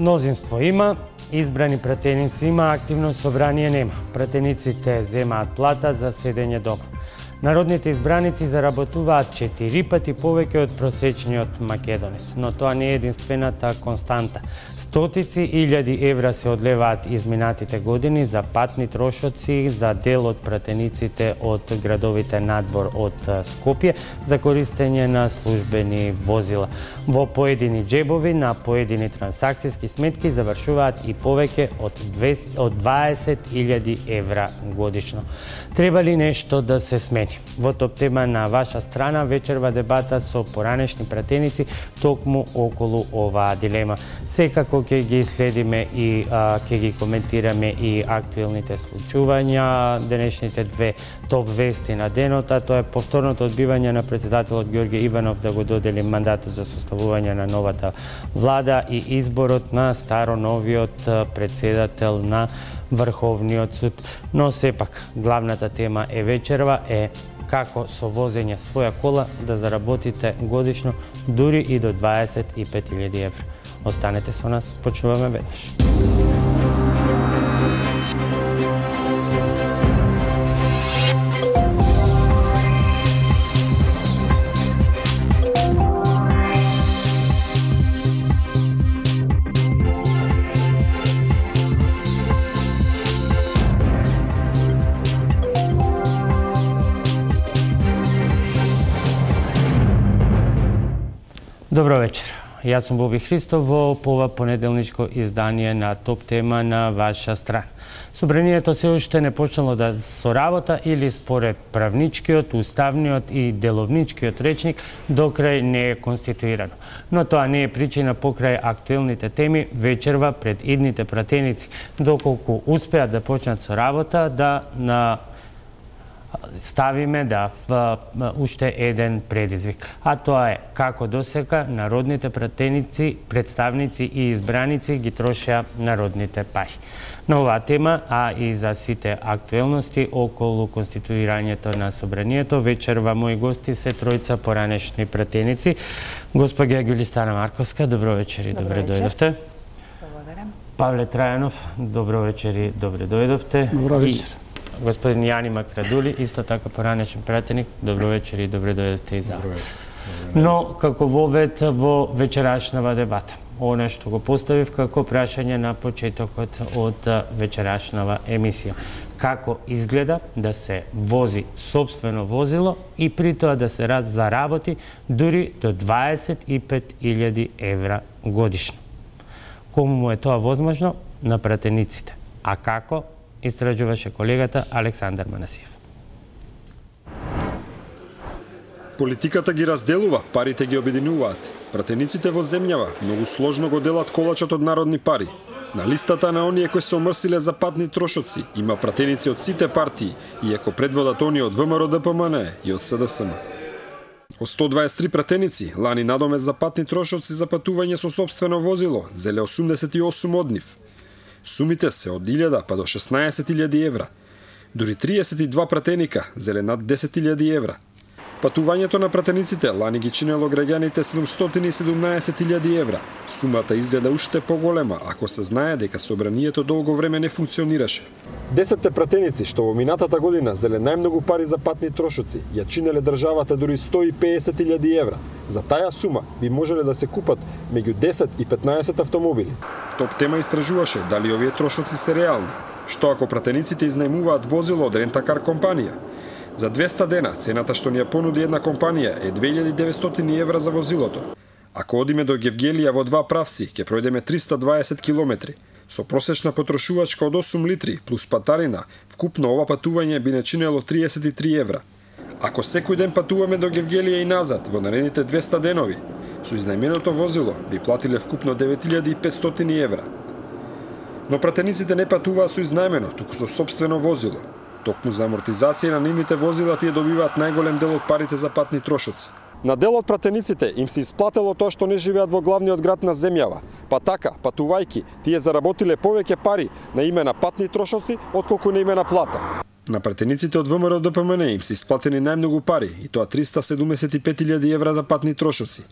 Мнозинство има, избрани пратеници има, активно собрание нема. Пратениците земаат плата за седење дома. Народните избраници заработуваат 4 пати повеќе од просечниот македонец, но тоа не е единствената константа. Стотици илјади евра се одлеваат изминатите години за патни трошоци за дел од пратениците од градовите надвор од Скопје за користење на службени возила. Во поедини џебови на поедини трансакциски сметки завршуваат и повеќе од 20.000 евра годишно. Треба ли нешто да се смени? Во топ тема на ваша страна вечерва дебата со поранешни пратеници токму околу оваа дилема. Секако ќе ги следиме и ќе ги коментираме и актуелните случувања, денешните две топ вести на денот, а тоа е повторното одбивање на претседателот Ѓорѓе Иванов да го додели мандатот за составување на новата влада и изборот на старо-новиот претседател на Врховниот суд. Но сепак, главната тема вечерва е како со возење своја кола да заработите годишно дури и до 25.000 евра. Останете со нас, почнуваме веднаш. Добро вечер. Јас сум Боби Христов во ова понеделничко издание на топ тема на ваша страна. Собранието се уште не почнало да со работа или според правничкиот, уставниот и деловничкиот речник докрај не е конституирано. Но тоа не е причина покрај актуелните теми вечерва пред идните пратеници, доколку успеат да почнат со работа да ставиме уште еден предизвик. А тоа е како досека народните пратеници, представници и избраници ги трошеа народните пари. На оваа тема, а и за сите актуелности околу конституирањето на собранието, вечерва мои гости се тројца поранешни пратеници. Госпоѓа Ѓулистана Марковска, добро вечер и добре дојдовте. Благодарам. Павле Трајанов, добро вечер и добре дојдовте. Добро вечер. Господин Јани Макрадули, исто така поранешен пратеник, добро вечер и добре дојдовте и за. Но како вовед во вечерашнава дебата, она што го поставив како прашање на почетокот од вечерашнава емисија. Како изгледа да се вози сопствено возило и при тоа да се заработи дури до 25.000 евра годишно. Кому му е тоа возможно? На пратениците. А како? Истражуваше колегата Александар Манасиев. Политиката ги разделува, парите ги обединуваат. Пратениците во земјава многу сложно го делат колачот од народни пари. На листата на оние кои се омрсиле за патни трошоци има пратеници од сите партии, иако предводат оние од ВМРО ДПМН и од СДСМ. Од 123 пратеници, лани надоме за патни трошоци за патување со сопствено возило, зеле 88 од нив. Сумите се од 1000 па до 16.000 евра. Дури 32 пратеника зеле над 10.000 евра. Патувањето на пратениците лани ги чинело граѓаните 717.000 евра. Сумата изгледа уште поголема ако се знае дека собранието долго време не функционираше. 10 пратеници што во минатата година зеле најмногу пари за патни трошоци ја чинеле државата дури 150.000 евра. За таа сума би можеле да се купат меѓу 10 и 15 автомобили. Топ тема истражуваше дали овие трошоци се реални. Што ако пратениците изнајмуваат возило од рентакар компанија? За 200 дена цената што ни ја понуди една компанија е 2900 евра за возилото. Ако одиме до Гевгелија во два правци, ќе пројдеме 320 километри. Со просечна потрошувачка од 8 литри плюс патарина, вкупно ова патување би не чинело 33 евра. Ако секој ден патуваме до Гевгелија и назад во наредните 200 денови, со изнајменото возило би платиле вкупно 9500 евра. Но пратениците не патуваат со изнајмено, туку со сопствено возило. Токму за амортизација на нивните возила тие добиваат најголем дел од парите за патни трошоци. На дел од пратениците им се исплатело тоа што не живеат во главниот град на земјава. Па така, патувајки, тие заработиле повеќе пари на име на патни трошоци отколку на име на плата. На пратениците од ВМРО ДПМН им се исплатени најмногу пари, и тоа 375.000 евра за патни трошоци.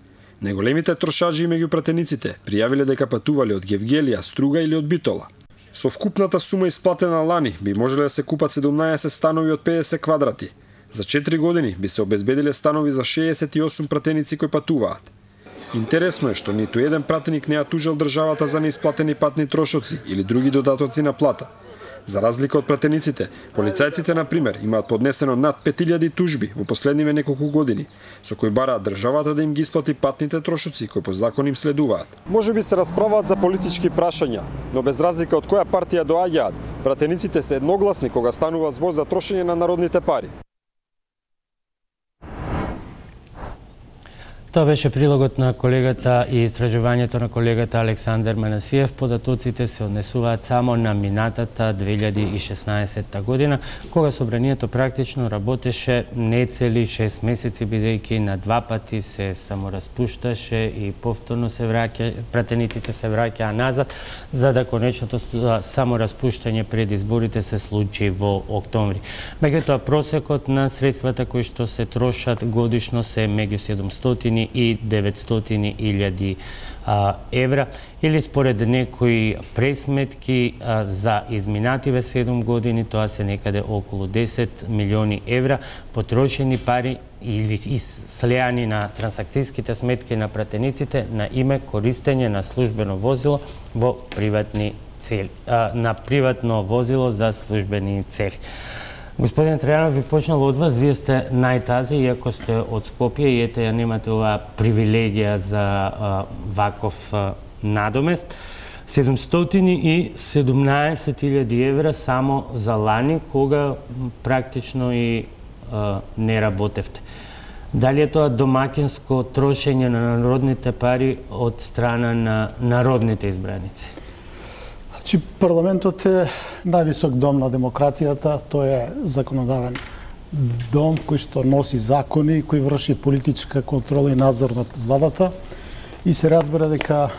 Најголемите трошаджи меѓу пратениците пријавиле дека патувале од Гевгелија, Струга или од Битола. Со вкупната сума исплатена лани би можеле да се купат 17 станови од 50 квадрати. За 4 години би се обезбедиле станови за 68 пратеници кои патуваат. Интересно е што ниту еден пратеник не ја тужел државата за неисплатени патни трошоци или други додатоци на плата. За разлика од пратениците, полицајците, на пример, имаат поднесено над 5000 тужби во последниве неколку години, со кои бараат државата да им ги исплати патните трошоци кои по закон им следуваат. Може би се расправаат за политички прашања, но без разлика од која партија доаѓаат, пратениците се едногласни кога станува збор за трошење на народните пари. Тоа беше прилогот на колегата и истражувањето на колегата Александар Манасиев. Податоците се однесуваат само на минатата 2016 година, кога собранието практично работеше нецели 6 месеци, бидејќи на 2 пати се самораспушташе и повторно се пратениците се враќаа назад, за да конечното самораспуштање пред изборите се случи во октомври. Меѓутоа, просекот на средствата кои што се трошат годишно се меѓу 700 и 900.000 евра, или според некои пресметки за изминативе 7 години тоа се некаде околу 10 милиони евра потрошени пари или слеани на трансакцијските сметки на пратениците на име користење на службено возило во приватни цели, на приватно возило за службени цели. Господин Трајанов, ви почнало од вас, вие сте најтази, иако сте од Скопје и ете ја немате оваа привилегија за ваков надомест. 717.000 евра само за лани, кога практично и не работевте. Дали е тоа домакинско трошење на народните пари од страна на народните избраници? Парламентот е највисок дом на демократијата, тој е законодавен дом кој што носи закони, кој врши политичка контрола и надзор над владата и се разбира дека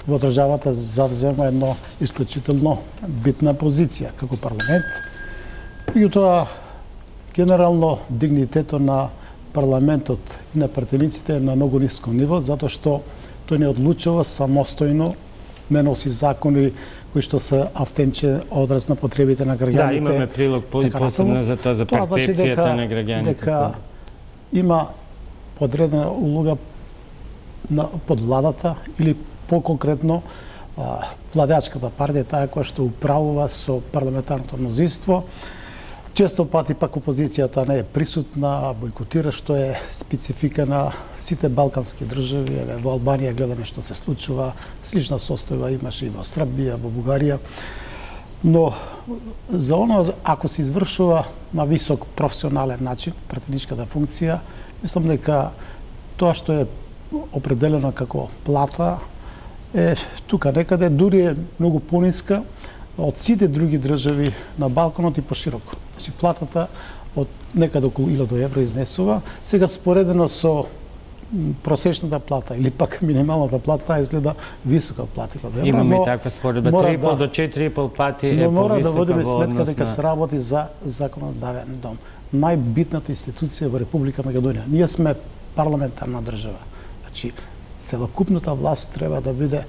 во државата завзема едно исклучително битна позиција како парламент. И тоа генерално дигнитетот на парламентот и на пратениците е на многу ниско ниво, затоа што тој не одлучува самостојно, не носи закони кои што се автенче одраз на потребите на граѓаните. Да, имаме прилог посебно за тоа, за перцепцијата на граѓаните. Дека има подредена улога под владата или по-конкретно владеачката партија, таа која што управува со парламентарното мнозинство. Често пати пак опозицијата не е присутна, бойкотира, што е специфика на сите балкански држави. Во Албанија гледаме што се случува, слична состојба имаше и во Србија, во Бугарија. Но за оно, ако се извршува на висок професионален начин пратеничката функција, мислам дека тоа што е определено како плата е тука некаде, дури е многу пониска од сите други држави на Балканот и пошироко. Значи, платата од некаде околу 1000 евро изнесува. Сега споредено со просечната плата или пак минималната плата, таа изгледа висока плата. Имаме и таква споредба, 3,5 до 4,5 пати е повисока. Но мора да водиме сметка дека се работи за законодавен дом. Најбитната институција во Република Македонија. Ние сме парламентарна држава. Значи, целокупната власт треба да биде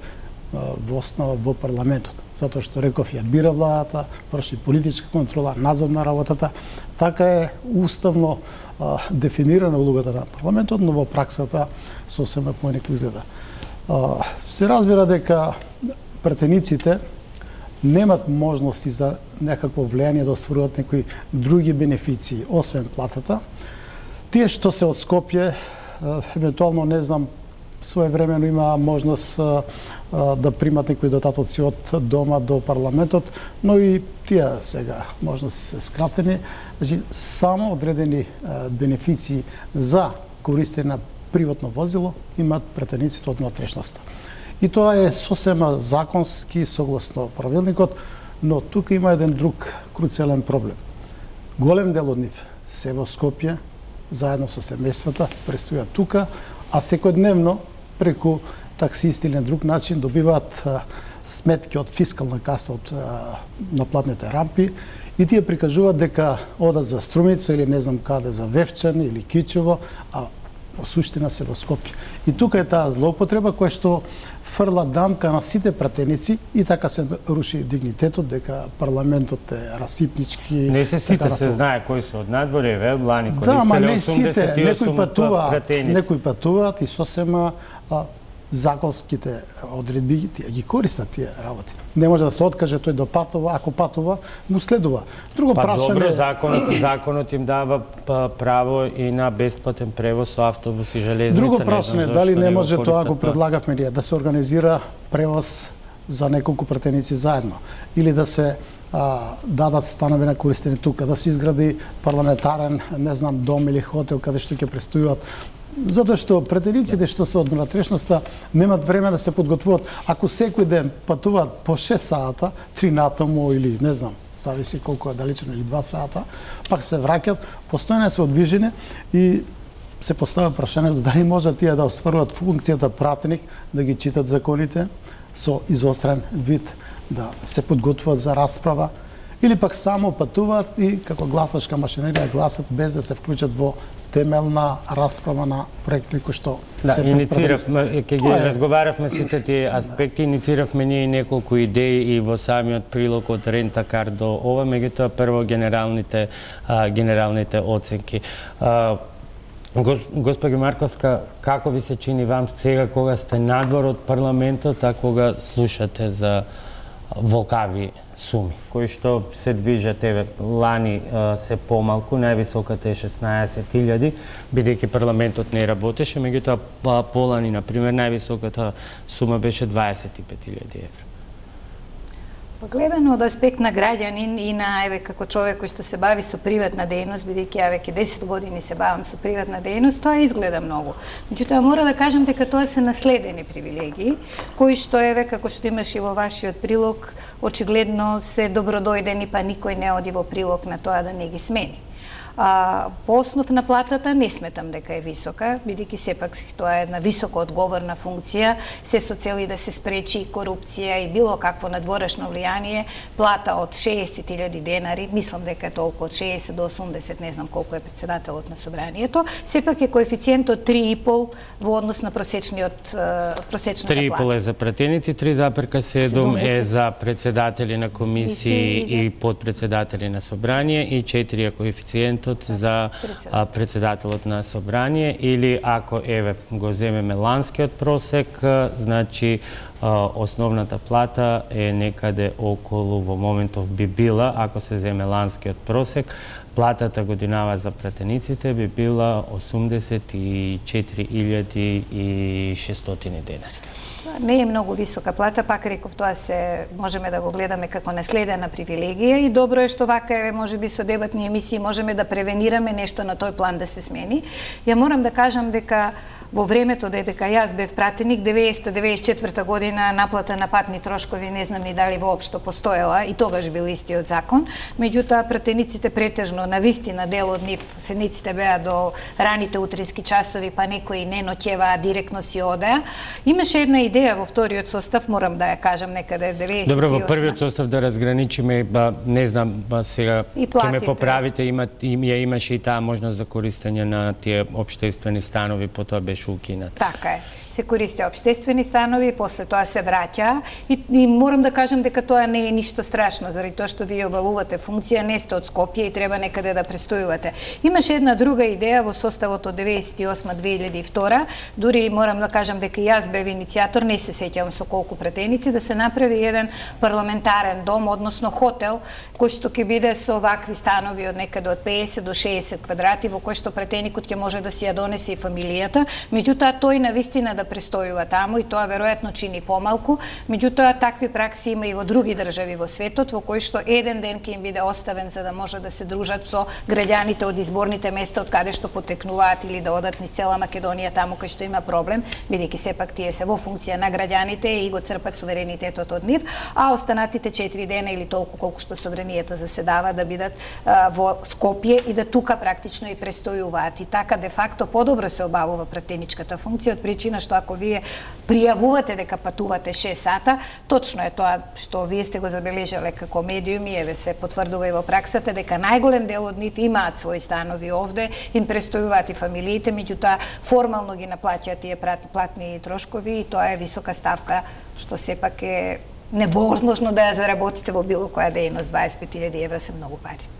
во основа во парламентот, затоа што реков ја бира владата, врши политичка контрола, надзор на работата. Така е уставно дефинирана улогата на парламентот, но во праксата сосема поинакво изгледа. Се разбира дека пратениците немат можности за некакво влијание да остваруваат некои други бенефиции, освен платата. Тие што се од Скопје, евентуално, не знам, своевремено има можност да примат некои додатоци од дома до парламентот, но и тие сега можност се скратени. Значи, само одредени бенефиции за користење на приватно возило имаат пратениците од внатрешноста. И тоа е сосема законски согласно правилникот, но тука има еден друг круцијален проблем. Голем дел од нив се во Скопје, заедно со семејствата, престојат тука, а секојдневно преку таксисти или на друг начин добиваат сметки од фискална каса од наплатните рампи и тие прикажуваат дека одат за Струмица или не знам каде, за Вевчан или Кичево, а по суштина се во Скопје. И тука е таа злоупотреба која што фрла дамка на сите пратеници и така се руши дигнитетот, дека парламентот е расипнички. Не се сите, се знае кои се од надворе, Лани користеле 88 некои патуваат и сосема законските одредби ги користат тие работи. Не може да се откаже тој да патува, ако патува, му следува. Друго прашање... Добро, законот им дава право и на бесплатен превоз со автобус и железница. Друго прашање, дали не може тоа, ако предлагавме ние, да се организира превоз за неколку пратеници заедно, или да се дадат станови на користење тука, да се изгради парламентарен, не знам, дом или хотел каде што ќе престојуват. Затоа што пратениците што се од внатрешноста немат време да се подготвуваат. Ако секој ден патуваат по 6 сата, 3 натаму или не знам, зависи колку е далечено, или 2 сата, пак се враќат, постојано се одвижење и се поставя прашањето дали може тие да остваруваат функцијата пратеник, да ги читат законите со изострен вид, да се подготвуваат за расправа, или пак само патуваат и како гласачка машинерија гласат без да се вклучат во темелна расправа на проекти кои што се иницииравме, ќе ги разговаравме сите тие аспекти, иницииравме ние неколку идеи и во самиот прилог од Рентакар до ова, меѓутоа прво генералните оценки. Госпоѓо Марковска, како ви се чини вам сега кога сте надвор од парламентот, а кога слушате за волкави суми, кои што се движат, лани се помалку, највисоката е 16.000, бидејќи парламентот не работеше, меѓутоа полани, например, највисоката сума беше 25.000 евра. Гледано од аспект на граѓанин и на како човек кој што се бави со приватна дејност, бидејќи ја веќе 10 години се бавам со приватна дејност, тоа изгледа многу. Меѓутоа мора да кажам дека тоа се наследени привилегии, кои што како што имаш и во вашиот прилог, очигледно се добродојдени, па никој не оди во прилог на тоа да не ги смени. По основ на платата не сметам дека е висока, бидејќи сепак тоа е една високо одговорна функција, се со цели да се спречи и корупција и било какво надворешно влијание. Плата од 60.000 денари, мислам дека е толку од 60 до 80, не знам колку е председателот на собранието, сепак е коефициентот 3,5 во однос на просечната плата. 3,5 е за пратеници, 3,7 е за председатели на комисии и подпредседатели на собрание и 4 е коефициент за председателот на собрание, или ако го земеме ланскиот просек, значи основната плата е некаде околу, во моментов би била, ако се земе ланскиот просек, платата годинава за пратениците би била 84.600 денари. Не е многу висока плата, пак реков, тоа се можеме да го гледаме како наследена привилегија и добро е што вака можеби со дебатни емисии можеме да превенираме нешто на тој план да се смени. Ја морам да кажам дека во времето дека јас бев пратеник, 90-94 година наплата на патни трошкови не знам ни дали воопшто постоела и тогаш бил истиот закон. Меѓутоа пратениците претежно на вистина дел од нив седниците беа до раните утрински часови, па некои не ноќеваа, директно си одеа. Имаше една идеја во вториот состав, морам да ја кажам, некаде 98. Добро, во првиот состав да разграничиме, не знам, сега ќе ме поправите, имаше и таа можност за користење на тие општествени станови, потоа беше укинат. Така е. Се користи општествени станови, после тоа се враќа и морам да кажам дека тоа не е ништо страшно, заради тоа што вие обавувате функција, не сте од Скопје и треба некаде да престојувате. Имаше една друга идеја во составот од 98-2002, дури морам да кажам дека јас бев иницијатор, не се сеќавам со колку пратеници, да се направи еден парламентарен дом, односно хотел, кој што ќе биде со вакви станови од некаде од 50 до 60 квадрати, во кој што пратеникот ќе може да си ја донесе и фамилијата, меѓутоа тој навистина да престојува таму и тоа веројатно чини помалку, меѓутоа такви пракси има и во други држави во светот, во кои што еден ден ќе им биде оставен за да може да се дружат со граѓаните од изборните места од каде што потекнуваат или да одат низ цела Македонија таму кај што има проблем, бидејќи сепак тие се во функција на граѓаните и го црпат суверенитетот од нив, а останатите 4 дена или толку колку што собранието заседава да бидат во Скопје и да тука практично и престојуваат. И така де факто подобро се обавува пратеничката функција од причина што што ако вие пријавувате дека патувате 6 сата, точно е тоа што вие сте го забележале како медиуми, еве се потврдува и во праксата дека најголем дел од нив имаат своји станови овде, им престојуваат и фамилиите, меѓутоа формално ги наплаќаат тие платни трошкови и тоа е висока ставка што сепак е невозможно да ја заработите во било која дејност. 25.000 евра се многу пари.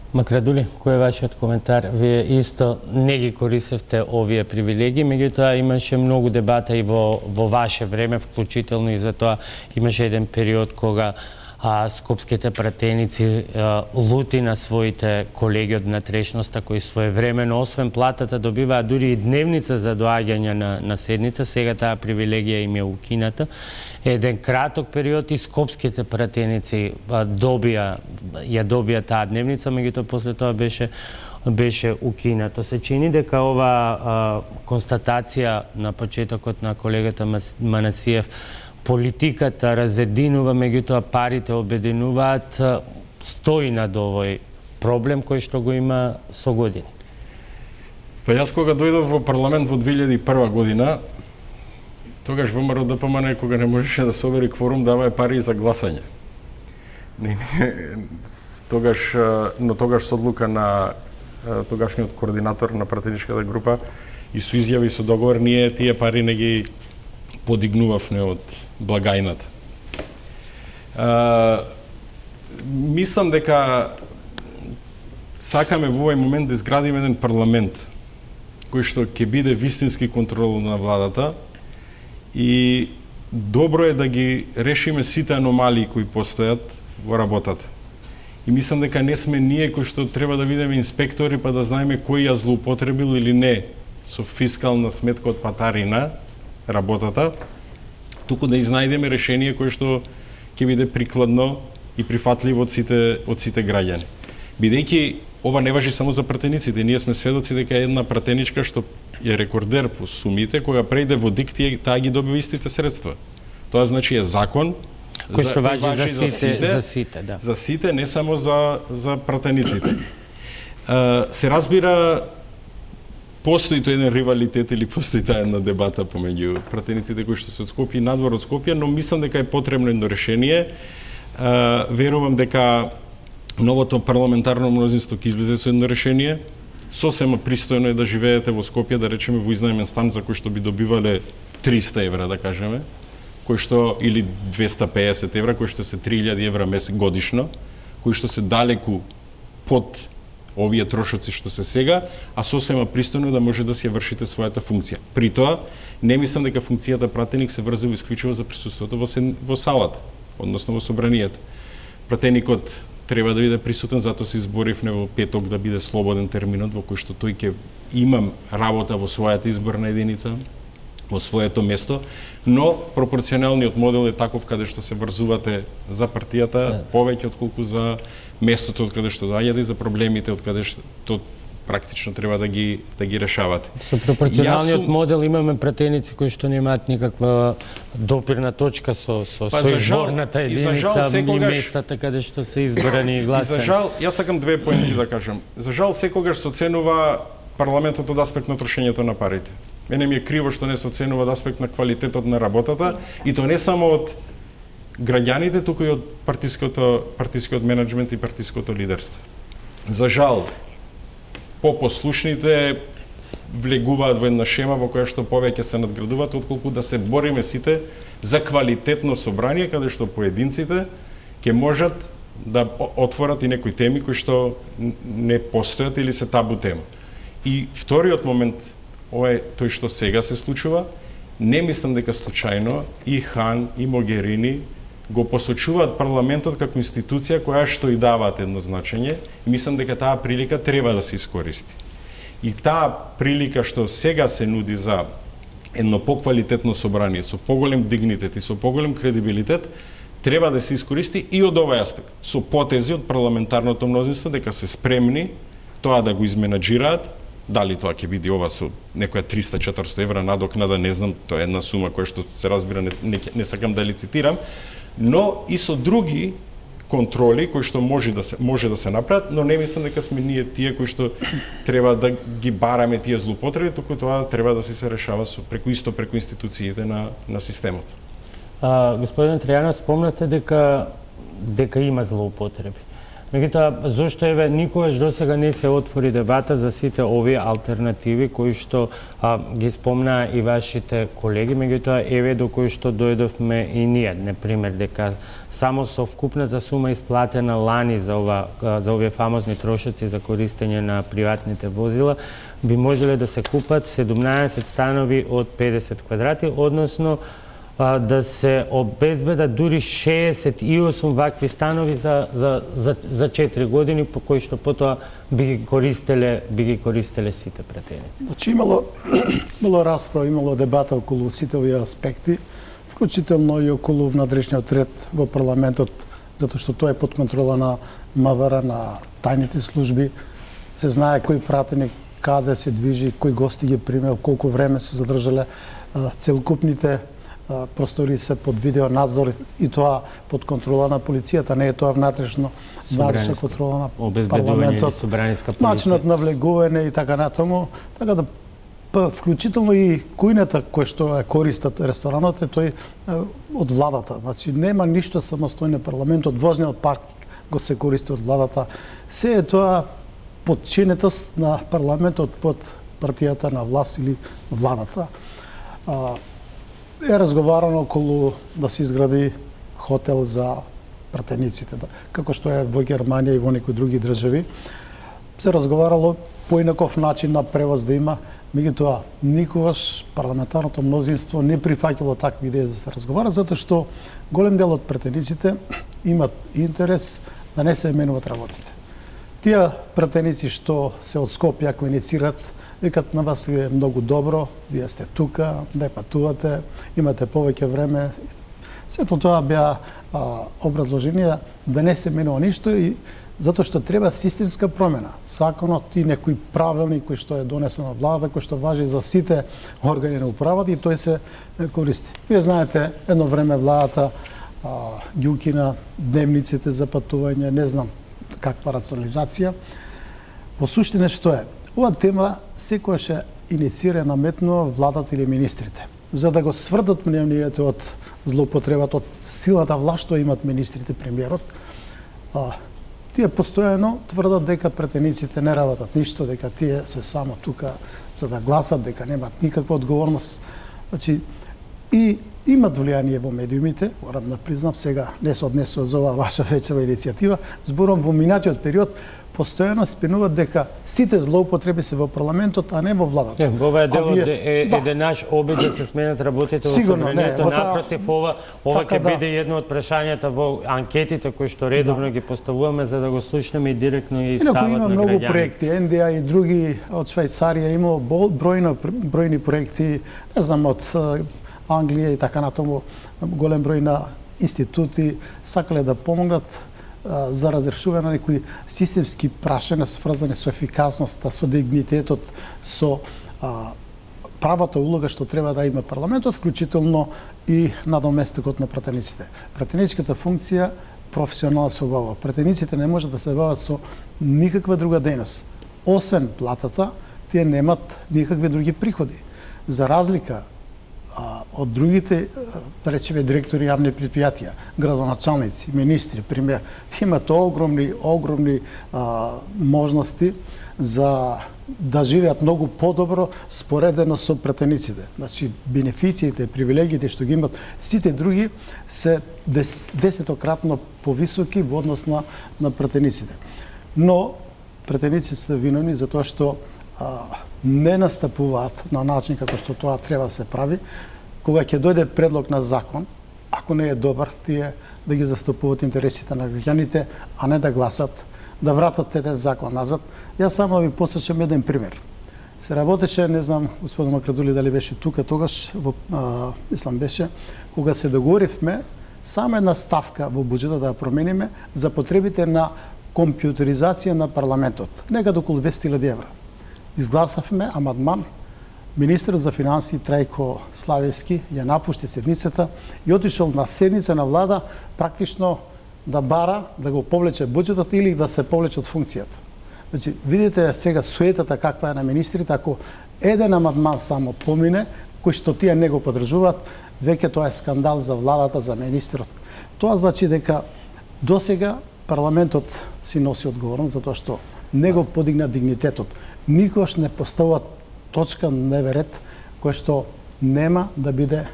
Макрадули, кој е вашиот коментар? Вие исто не ги користевте овие привилегии, меѓутоа имаше многу дебата и во ваше време, вклучително и за тоа имаше еден период кога скопските пратеници лути на своите колеги од натрешноста кои своевремено, освен платата, добиваат дури и дневница за доаѓање на седница. Сега таа привилегија им е укината. Еден краток период и скопските пратеници ја добија таа дневница, меѓутоа после тоа беше укинато. Се чини дека ова констатација на почетокот на колегата Манасиев, политиката разединува, меѓутоа парите обединуваат, стои над овој проблем кој што го има со години. Па јас кога дојдов во парламент во 2001 година, тогаш ВМРО ДПМН кога не можеше да собери кворум, даваe пари за гласање. Тогаш со одлука на тогашниот координатор на пратеничката група и со изјави и со договор, ние тие пари не ги подигнувавме од благајната. Мислам дека сакаме во овој момент да изградиме еден парламент кој што ќе биде вистински контрол на владата и добро е да ги решиме сите аномалии кои постојат во работата. И мислам дека не сме ние кои што треба да бидеме инспектори па да знаеме кој ја злоупотребил или не со фискална сметка од патарина работата, туку да изнајдеме решение кое што ќе биде прикладно и прифатливо од сите граѓани. Бидејќи ова не важи само за пратениците, ние сме сведоци дека една пратеничка што е рекордер по сумите, кога прејде во ДИК, таа ги добива истите средства. Тоа значи е закон кој што важи за сите, да. За сите, не само за пратениците. Се разбира, постои тој еден ривалитет или постои таа една дебата помеѓу пратениците кои што се од Скопје и надвор од Скопје, но мислам дека е потребно едно решение. Верувам дека новото парламентарно мнозинство ќе излезе со едно решение. Сосема пристојно е да живеете во Скопје, да речеме во изнаемен стан за кој што би добивале 300 евра, да кажеме, кој што или 250 евра, кој што се 3000 евра годишно, кои што се далеку под овие трошоци што се сега, а сосема пристојно да може да си ја вршите својата функција. При тоа, не мислам дека функцијата пратеник се врзува исклучиво за присуството во салата, односно во собранието. Пратеникот треба да биде присутен, затоа се изборивме во петок да биде слободен терминот во кој што тој ќе имам работа во својата изборна единица, во своето место, но пропорционалниот модел е таков каде што се врзувате за партијата повеќе отколку за местото од каде што доаѓате и за проблемите од каде што практично треба да ги решавате. Со пропорционалниот модел имаме пратеници кои што немаат никаква допирна точка со изборната единица и местата каде што се избрани и гласани. За жал, јас сакам две поенти да кажам. За жал, секогаш се оценува парламентот од аспект на трошењето на парите. Мене ми е криво што не се оценува од аспект на квалитетот на работата, и то не само од граѓаните, туку и од партискиот менеджмент и партиското лидерство. За жал, попослушните влегуваат во една шема во која што повеќе се надградуваат, отколку да се бориме сите за квалитетно собрание, каде што поединците ќе можат да отворат и некои теми кои што не постојат или се табу тема. И вториот момент, ова е тој што сега се случува. Не мислам дека случајно и Хан и Могерини го посочуваат парламентот како институција која што и даваат едно значење, и мислам дека таа прилика треба да се искористи. И таа прилика што сега се нуди за едно поквалитетно собрание со поголем дигнитет и со поголем кредибилитет треба да се искористи и од овој аспект, со потези од парламентарното мнозинство дека се спремни тоа да го изменаџираат. Дали тоа ќе биде ова со некоја 300-400 евра надокнада, не знам, тоа е една сума која што се разбира, не сакам да лицитирам, но и со други контроли кои што може да се направат, но не мислам дека сме ние тие кои што треба да ги бараме тие злоупотреби, туку тоа треба да се решава преку институциите на системот. Господин Тријанов, спомнате дека има злоупотреби. Меѓутоа, зошто никогаш досега не се отвори дебата за сите овие алтернативи кои што ги спомнаа и вашите колеги, меѓутоа до кои што дојдовме и ние, например, дека само со вкупната сума исплатена лани за овие фамозни трошоци за користење на приватните возила би можеле да се купат 17 станови од 50 квадрати, односно да се обезбедат дури 68 вакви станови за 4 години, по кои што потоа би ги користеле сите пратеници. Значи имало расправа, имало дебата околу сите овие аспекти, вклучително и околу внатрешниот ред во парламентот, затоа што тоа е под контрола на МВР, на тајните служби. Се знае кој пратеник каде се движи, кој гости ги примел, колку време се задржале, целокупните простори се под видеонадзор и тоа под контрола на полицијата, не е тоа внатрешна контрола на парламентот, начинот на влегување и така натаму, така да вклучително и кујната кој што е користат ресторанот е тој од владата. Значи нема ништо самостојно парламентот, возниот парк го се користи од владата. Се е тоа подчинетост на парламентот под партијата на власт или владата. Е разговарано околу да се изгради хотел за пратениците, како што е во Германија и во некои други држави. Се разговарало поинаков начин на превоз да има, меѓутоа никогаш парламентарното мнозинство не прифаќало такви идеи да се разговара, затоа што голем дел од пратениците имат интерес да не се менуваат работите. Тие пратеници што се од Скопје ако инициират, викат на вас е многу добро, вие сте тука, не патувате, имате повеќе време. Сето тоа беа образложенија да не се менува ништо и затоа што треба системска промена. Законот и некој правилник кој што е донесен од владата, кој што важи за сите органи на управата и тој се користи. Вие знаете, едно време владата ги укина дневниците за патување, не знам каква рационализација. Во суштина што е? Ова тема секојаш е инициира наметнува владата или министрите, за да го сврдат мнението од злоупотребата, од силата власт што имат министрите, премиерот. Тие постојано тврдат дека пратениците не работат ништо, дека тие се само тука за да гласат, дека немат никаква одговорност. Значи, и имат влијание во медиумите, морам да признам, сега не се однесува за оваа ваша вечерва иницијатива, зборам во минатиот период, постојано спинуваат дека сите злоупотреби се во парламентот, а не во владата. Ова е дел од еден наш обид да се сменат работите во собранието. Напротив, ова ќе биде едно од прашањата во анкетите кои што редовно ги поставуваме за да го слушнеме и директно и стават на граѓани. Има многу проекти, НДА и други од Швајцарија, има бројни проекти, не знам, од Англија и така натаму, голем број на институти сакале да помогнат за разрешување на некои системски прашања сврзани со ефикасноста, со дигнитетот, со правата улога што треба да има парламентот, вклучително и надоместокот на пратениците. Пратеничката функција професионално се обавува. Пратениците не можат да се бават со никаква друга дејност. Освен платата, тие немат никакви други приходи. За разлика од другите, да речеме, директори јавни предпријатија, градоначалници, министри, пример, имат огромни можности за да живеат многу подобро споредено со пратениците. Значи, бенефициите, привилегиите што ги имат сите други се десетократно повисоки во однос на пратениците. Но пратениците се виновни за тоа што не настапуваат на начин како што тоа треба да се прави. Кога ќе дојде предлог на закон, ако не е добар, тие да ги застапуваат интересите на граѓаните, а не да гласат, да вратат еден закон назад. Јас само да ви посечам еден пример. Се работеше, не знам, господин Макрадули дали беше тука тогаш, мислам беше, кога се договоривме само една ставка во буџетот да ја промениме за потребите на компјутеризација на парламентот, некаде околу 200.000 евра. Изгласавме амандман, министерот за финансии Трајко Славевски ја напушти седницата и отишол на седница на влада практично да бара да го повлече буџетот или да се повлече од функцијата. Значи, видите сега суетата каква е на министрите, ако еден амандман само помине, кој што тие не го поддржуваат, веќе тоа е скандал за владата, за министрот. Тоа значи дека досега парламентот си носи одговорност затоа што не го подигна дигнитетот. Никош не поставува точка на дневен ред кој што нема да биде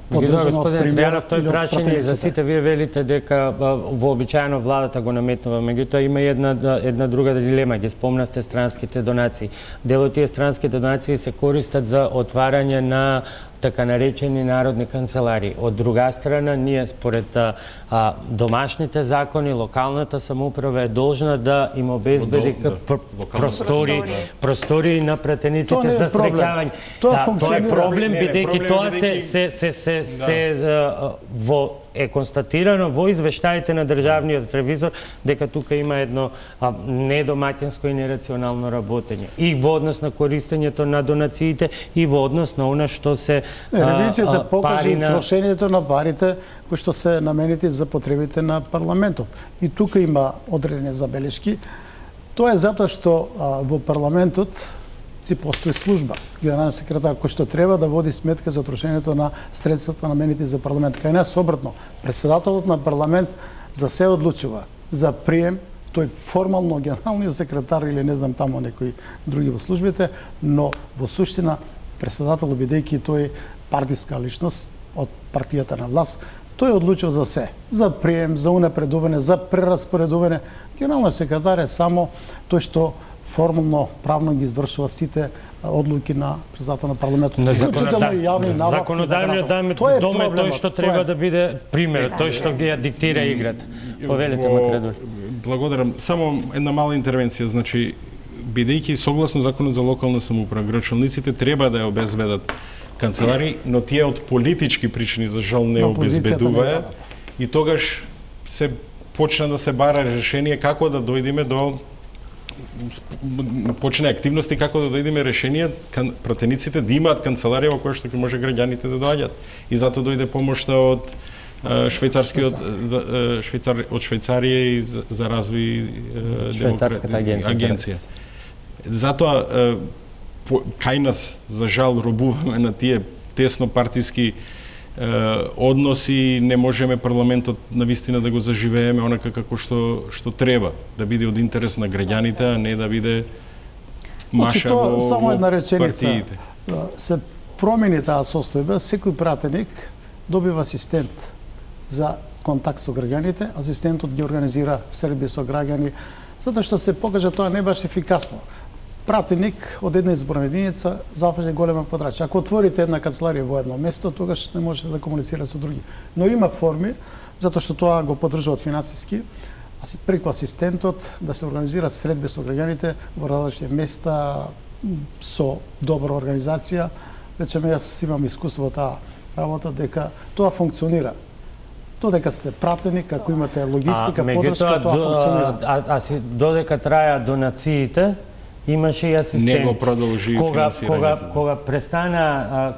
поддржано од премиерот или од пратениците. За сите вие велите дека вообичаено владата го наметнува, меѓутоа има една друга дилема, ги спомнавте странските донации. Дел од тие странски донации се користат за отварање на така наречени народни канцелари. Од друга страна, ние според домашните закони, локалната самоуправа е должна да им обезбеди простори на пратениците за среќавање. Тоа е проблем, бидејќи тоа е констатирано во извештаите на државниот ревизор дека тука има едно недомаќинско и нерационално работење и во однос на користењето на донациите и во однос на она што се ревизијата покажа трошењето на парите кои што се наменети за потребите на парламентот. И тука има одредени забелешки. Тоа е затоа што во парламентот си постои служба, генерален секретар, кој што треба да води сметка за трошењето на средствата наменети за парламент. Кај нас обратно, председателот на парламент за се одлучува за прием, тој формално генералниот секретар или не знам таму некои други во службите, но во суштина председателот, бидејќи тој партиска личност од партијата на власт, тој одлучува за се, за прием, за унапредување, за прераспоредување. Генералниот секретар е само тој што формално, правно ги извршува сите одлуки на председател на парламентот. Законодавниот дом е тој што треба да биде пример, тој што ги диктира играта. Повелете, Макредор. Благодарам. Само една мала интервенција, значи бидејќи согласно законот за локална самоуправа, градоначалниците треба да ја обезбедат канцелари, но тие од политички причини за жал не обезбедуваа и тогаш се почна да се бара решение како да дојдеме до почне активности како да дојдеме решение пратениците да имаат канцеларија во која што ќе може граѓаните да доаѓат. И затоа дојде помошта од Швајцарија и за развој Швајцарската агенција. Затоа кај нас за жал робуваме на тие тесно партиски односи, не можеме парламентот навистина да го заживееме онака како што треба, да биде од интерес на граѓаните, а не да биде маша во само една реченица. Партиите. Се промени таа состојба, секој пратеник добива асистент за контакт со граѓаните, асистентот ги организира средби со граѓани, затоа што се покажа тоа не баш ефикасно. Пратеник од една изборна единица зафаќа голема подрачја. Ако отворите една канцеларија во едно место, тогаш не можете да комуницира со други. Но има форми, затоа што тоа го поддржуваат финансиски, преку асистентот да се организираат средби со граѓаните во различни места со добра организација. Речеме, јас имам искуство во таа работа дека тоа функционира. Додека сте пратеник, ако имате логистика, поддршка, тоа функционира. Додека траја донациите, имаше и асистент. Не го продолжи финансирањето.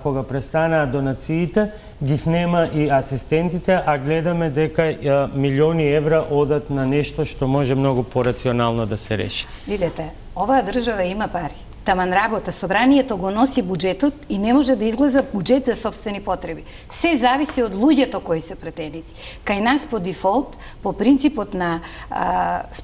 Кога престана донациите, ги снема и асистентите, а гледаме дека милиони евра одат на нешто што може многу порационално да се реши. Видете, оваа држава има пари. Таман работа, собранието го носи буџетот и не може да изгледа буџет за собствени потреби. Се зависи од луѓето кои се пратеници. Кај нас по дефолт, по принципот на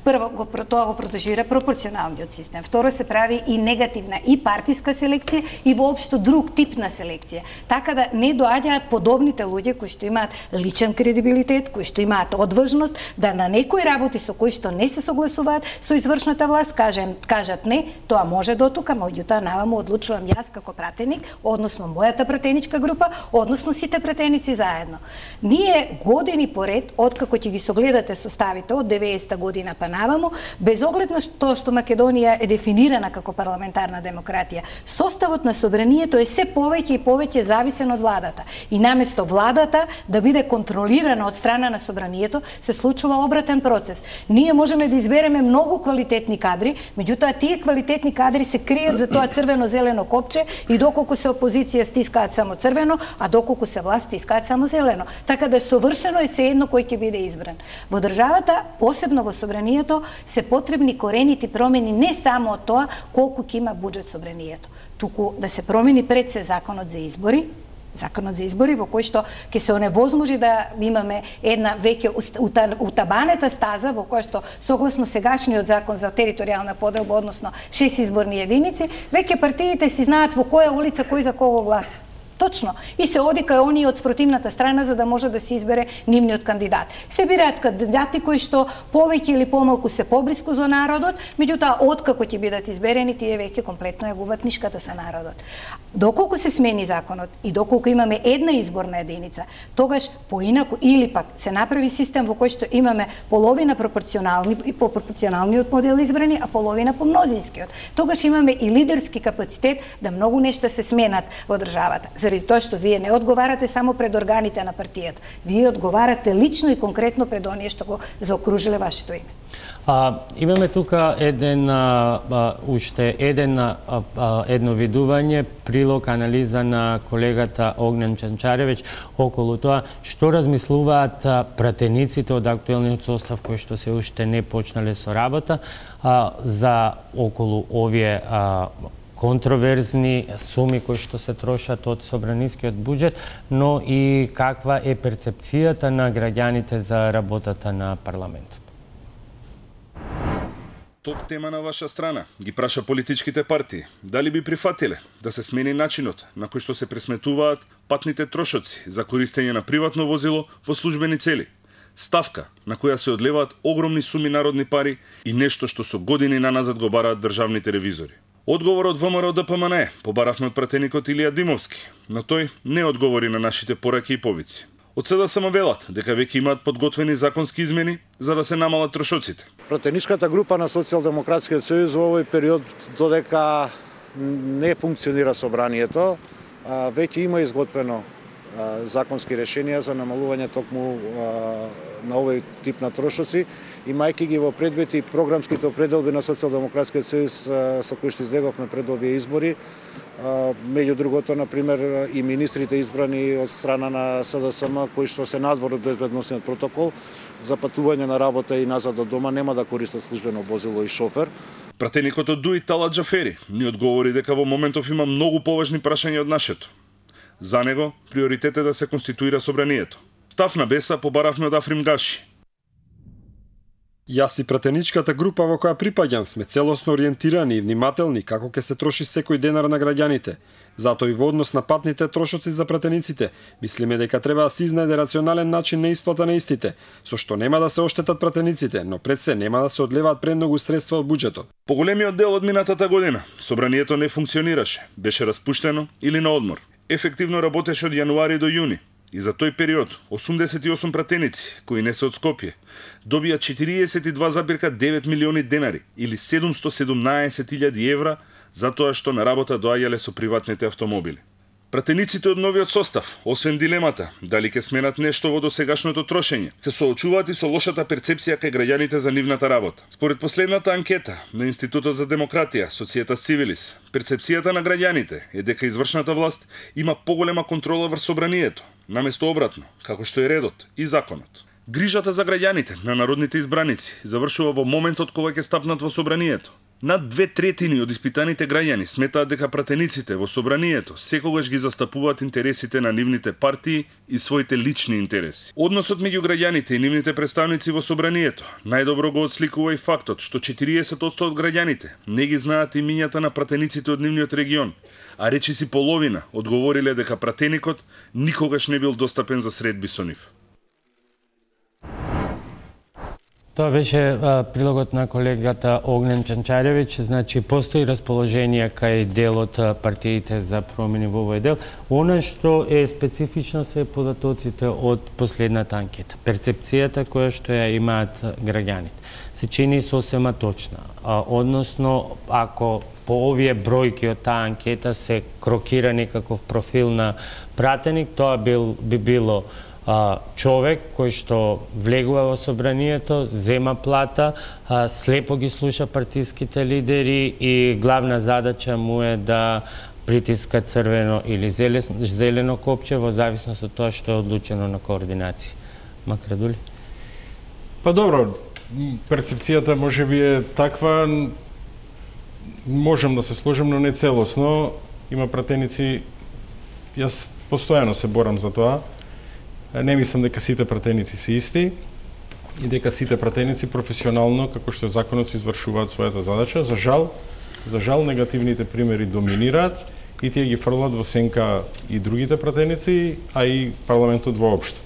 прво тоа го продолжира пропорционалниот систем. Второ се прави и негативна и партиска селекција и воопшто друг тип на селекција. Така да не доаѓаат подобните луѓе кои што имаат личен кредибилитет, кои што имаат одважност да на некои работи со кои што не се согласуваат со извршната власт кажат не, тоа може до тука, меѓутоа наваму одлучувам јас како пратеник, односно мојата пратеничка група, односно сите пратеници заедно. Ние години поред, откако ќе ги согледате составите од 90-та година па наваму, без оглед на тоа што Македонија е дефинирана како парламентарна демократија, составот на собранието е се повеќе и повеќе зависен од владата. И наместо владата да биде контролирана од страна на собранието, се случува обратен процес. Ние можеме да избереме многу квалитетни кадри, меѓутоа тие квалитетни кадри се кријат за тоа црвено-зелено копче и доколку се опозиција стискаат само црвено, а доколку се власт стискаат само зелено. Така да совршено е сеедно кој ќе биде избран. Во државата, посебно во собранието, се потребни коренити промени не само од тоа колку ќе има буџет собранието, туку да се промени пред се законот за избори, во кој што ќе се оневозможи да имаме една веќе утабанета стаза во која што согласно сегашниот закон за територијална поделба, односно 6 изборни единици, веќе партиите си знаат во која улица кој за кого гласа. Точно. И се оди кај оние од спротивната страна за да може да се избере нивниот кандидат. Се бираат кандидати кои што повеќе или помалку се поблиску за народот, меѓутоа откако ќе бидат изберени, тие веќе комплетно ја губат нишката со народот. Доколку се смени законот и доколку имаме една изборна единица, тогаш поинаку или пак се направи систем во кој што имаме половина пропорционални и по пропорционалниот модел избрани, а половина по мнозинскиот. Тогаш имаме и лидерски капацитет да многу нешта се сменат во државата. Заради тоа што вие не одговарате само пред органите на партијата, вие одговарате лично и конкретно пред оние што го заокружиле вашето име. Имаме тука уште едно видување, прилог, анализа на колегата Огнен Чанчаревиќ околу тоа што размислуваат пратениците од актуелниот состав кои што се уште не почнале со работа за околу овие контроверзни суми кои што се трошат од собранискиот буџет, но и каква е перцепцијата на граѓаните за работата на парламентот. Топ тема на ваша страна ги праша политичките партии дали би прифатиле да се смени начинот на кој што се пресметуваат патните трошоци за користење на приватно возило во службени цели. Ставка на која се одлеваат огромни суми народни пари и нешто што со години наназад го бараат државните ревизори. Одговорот ВМРО ДПМН побаравме од пратеникот Илија Димовски, но тој не одговори на нашите пораки и повици. Од СДСМ велат дека веќе имаат подготвени законски измени за да се намалат трошоците. Пратеничката група на Социјалдемократскиот сојуз во овој период додека не функционира собранието, веќе има изготвено законски решенија за намалување токму на овој тип на трошоци, имајќи ги во предвид и програмските определби на Социјалдемократскиот сојуз со кои што излеговме пред овие избори. Меѓу другото, например, и министрите избрани од страна на СДСМ, кои што се надвор од безбедносниот протокол, за патување на работа и назад од дома нема да користат службено возило и шофер. Пратеникот од ДУИ Талат Џафери ни одговори дека во моментов има многу поважни прашања од нашето. За него, приоритет е да се конституира собранието. Став на Беса побаравме од Африм Гаши. Јас и пратеничката група во која припаѓам сме целосно ориентирани и внимателни како ќе се троши секој денар на граѓаните. Затоа и во однос на патните трошоци за пратениците, мислиме дека треба да се изнајде рационален начин на исплата на истите, со што нема да се оштетат пратениците, но пред се нема да се одлеваат премногу средства од буџетот. Поголемиот дел од минатата година, собранието не функционираше, беше распуштено или на одмор. Ефективно работеше од јануари до јуни. И за тој период 88 пратеници, кои не се од Скопје, добија 42,9 милиони денари или 717.000 евра за тоа што на работа доаѓале со приватните автомобили. Пратениците од новиот состав, освен дилемата дали ќе сменат нешто во досегашното трошење, се соочуваат и со лошата перцепција кај граѓаните за нивната работа. Според последната анкета на Институтот за демократија, Societas Civilis, перцепцијата на граѓаните е дека извршната власт има поголема контрола врз собранието, наместо обратно, како што е редот и законот. Грижата за граѓаните на народните избраници завршува во моментот кога ќе стапнат во собранието. Над 2/3 од испитаните граѓани сметаат дека пратениците во собранието секогаш ги застапуваат интересите на нивните партии и своите лични интереси. Односот меѓу граѓаните и нивните представници во собранието најдобро го отсликува и фактот што 40% од граѓаните не ги знаат имињата на пратениците од нивниот регион, а речиси половина одговориле дека пратеникот никогаш не бил достапен за средби со нив. Тоа беше прилогот на колегата Огнен Чанчаревиќ. Значи, постои расположение кај дел од партиите за промени во овој дел. Она што е специфично се податоците од последната анкета. Перцепцијата која што ја имаат граѓаните се чини сосема точна. Односно, ако по овие бројки од таа анкета се крокира некаков профил на пратеник, тоа би било човек кој што влегува во собранието, зема плата, слепо ги слуша партиските лидери и главна задача му е да притиска црвено или зелено копче во зависност од тоа што е одлучено на координација. Макрадули? Па добро, перцепцијата можеби е таква, можам да се сложам, но не целосно. Има пратеници, јас постојано се борам за тоа. Не мислам дека сите пратеници се исти и дека сите пратеници професионално, како што законот, се извршуваат својата задача. За жал негативните примери доминираат и тие ги фрлат во сенка и другите пратеници, а и парламентот воопшто.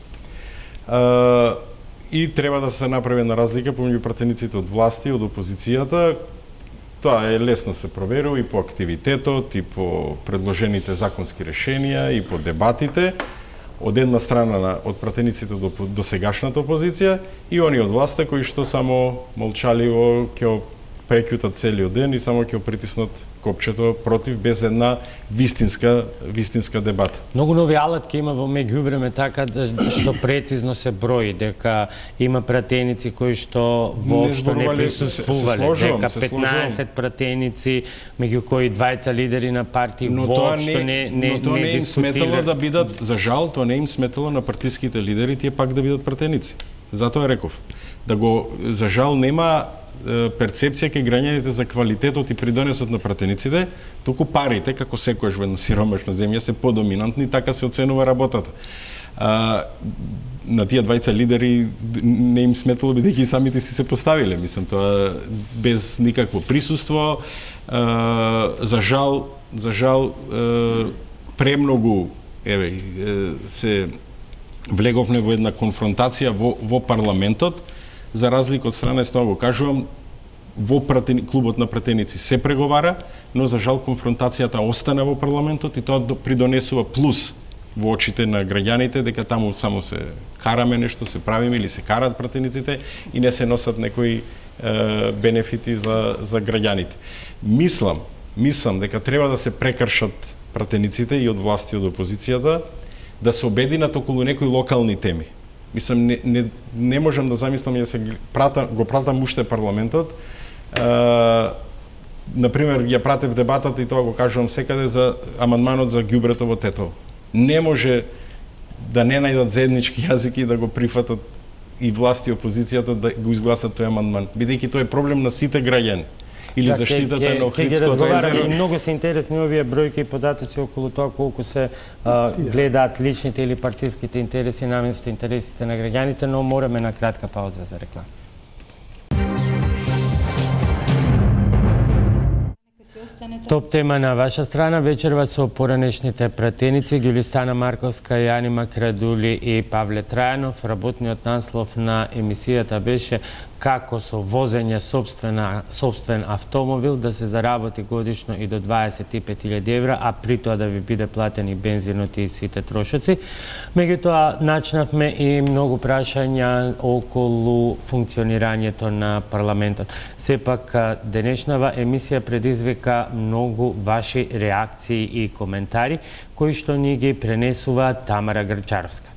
И треба да се направи една разлика помеѓу пратениците од власти и од опозицијата. Тоа е лесно се проверува и по активитетот, и по предложените законски решенија, и по дебатите. Од една страна од пратениците до сегашната опозиција и они од власта кои што само молчаливо ќе прекјутат целиот ден и само ќе притиснат копчето против без една вистинска дебата. Многу нови алатки има во меѓувреме така што прецизно се брои дека има пратеници кои што воопшто не присуствувале, дека 15 пратеници меѓу кои 20 лидери на партии воопшто не им сметало да бидат, за жал, тоа не им сметало на партиските лидери тие пак да бидат пратеници. Затоа реков за жал нема перцепција кај граѓаните за квалитетот и придонесот на пратениците, туку парите, како секојаш во една сиромашна земја, се подоминантни, така се оценува работата. На тие 20 лидери не им сметало бидејќи и самите си се поставиле, мислам, тоа без никакво присуство. За жал премногу се влеговме во една конфронтација во парламентот. За разлика од страна, тоа го кажувам, во клубот на пратеници се преговара, но за жал конфронтацијата остана во парламентот и тоа придонесува плюс во очите на граѓаните дека таму само се караме нешто, се правиме или се карат пратениците и не се носат некои бенефити за граѓаните. Мислам дека треба да се прекршат пратениците и од власти и од опозицијата, да се обединат околу некои локални теми. Мислам, не можам да замислам да се го пратам уште парламентот. Например, ја пратев дебатата и тоа го кажувам секаде за амандманот за ѓубрето во Тетово. Не може да не најдат заеднички јазики и да го прифатат и власти и опозицијата да го изгласат тој амандман, бидејќи тоа е проблем на сите граѓани. Или заштитата на Охридското езеро. Многу се интересни овие бројки и податоци околу тоа колку се гледаат личните или партиските интереси наместо интересите на граѓаните, но мораме на кратка пауза за реклама. Топ тема на ваша страна вечерва со поранешните пратеници Ѓулистана Марковска, Јани Макрадули и Павле Трајанов. Работниот наслов на емисијата беше како со возење сопствен автомобил да се заработи годишно и до 25.000 евра, а при тоа да ви биде платени бензинот и сите трошоци. Меѓутоа, начнавме и многу прашања околу функционирањето на парламентот. Сепак, денешнава емисија предизвика многу ваши реакции и коментари, кои што ни ги пренесува Тамара Грчаровска.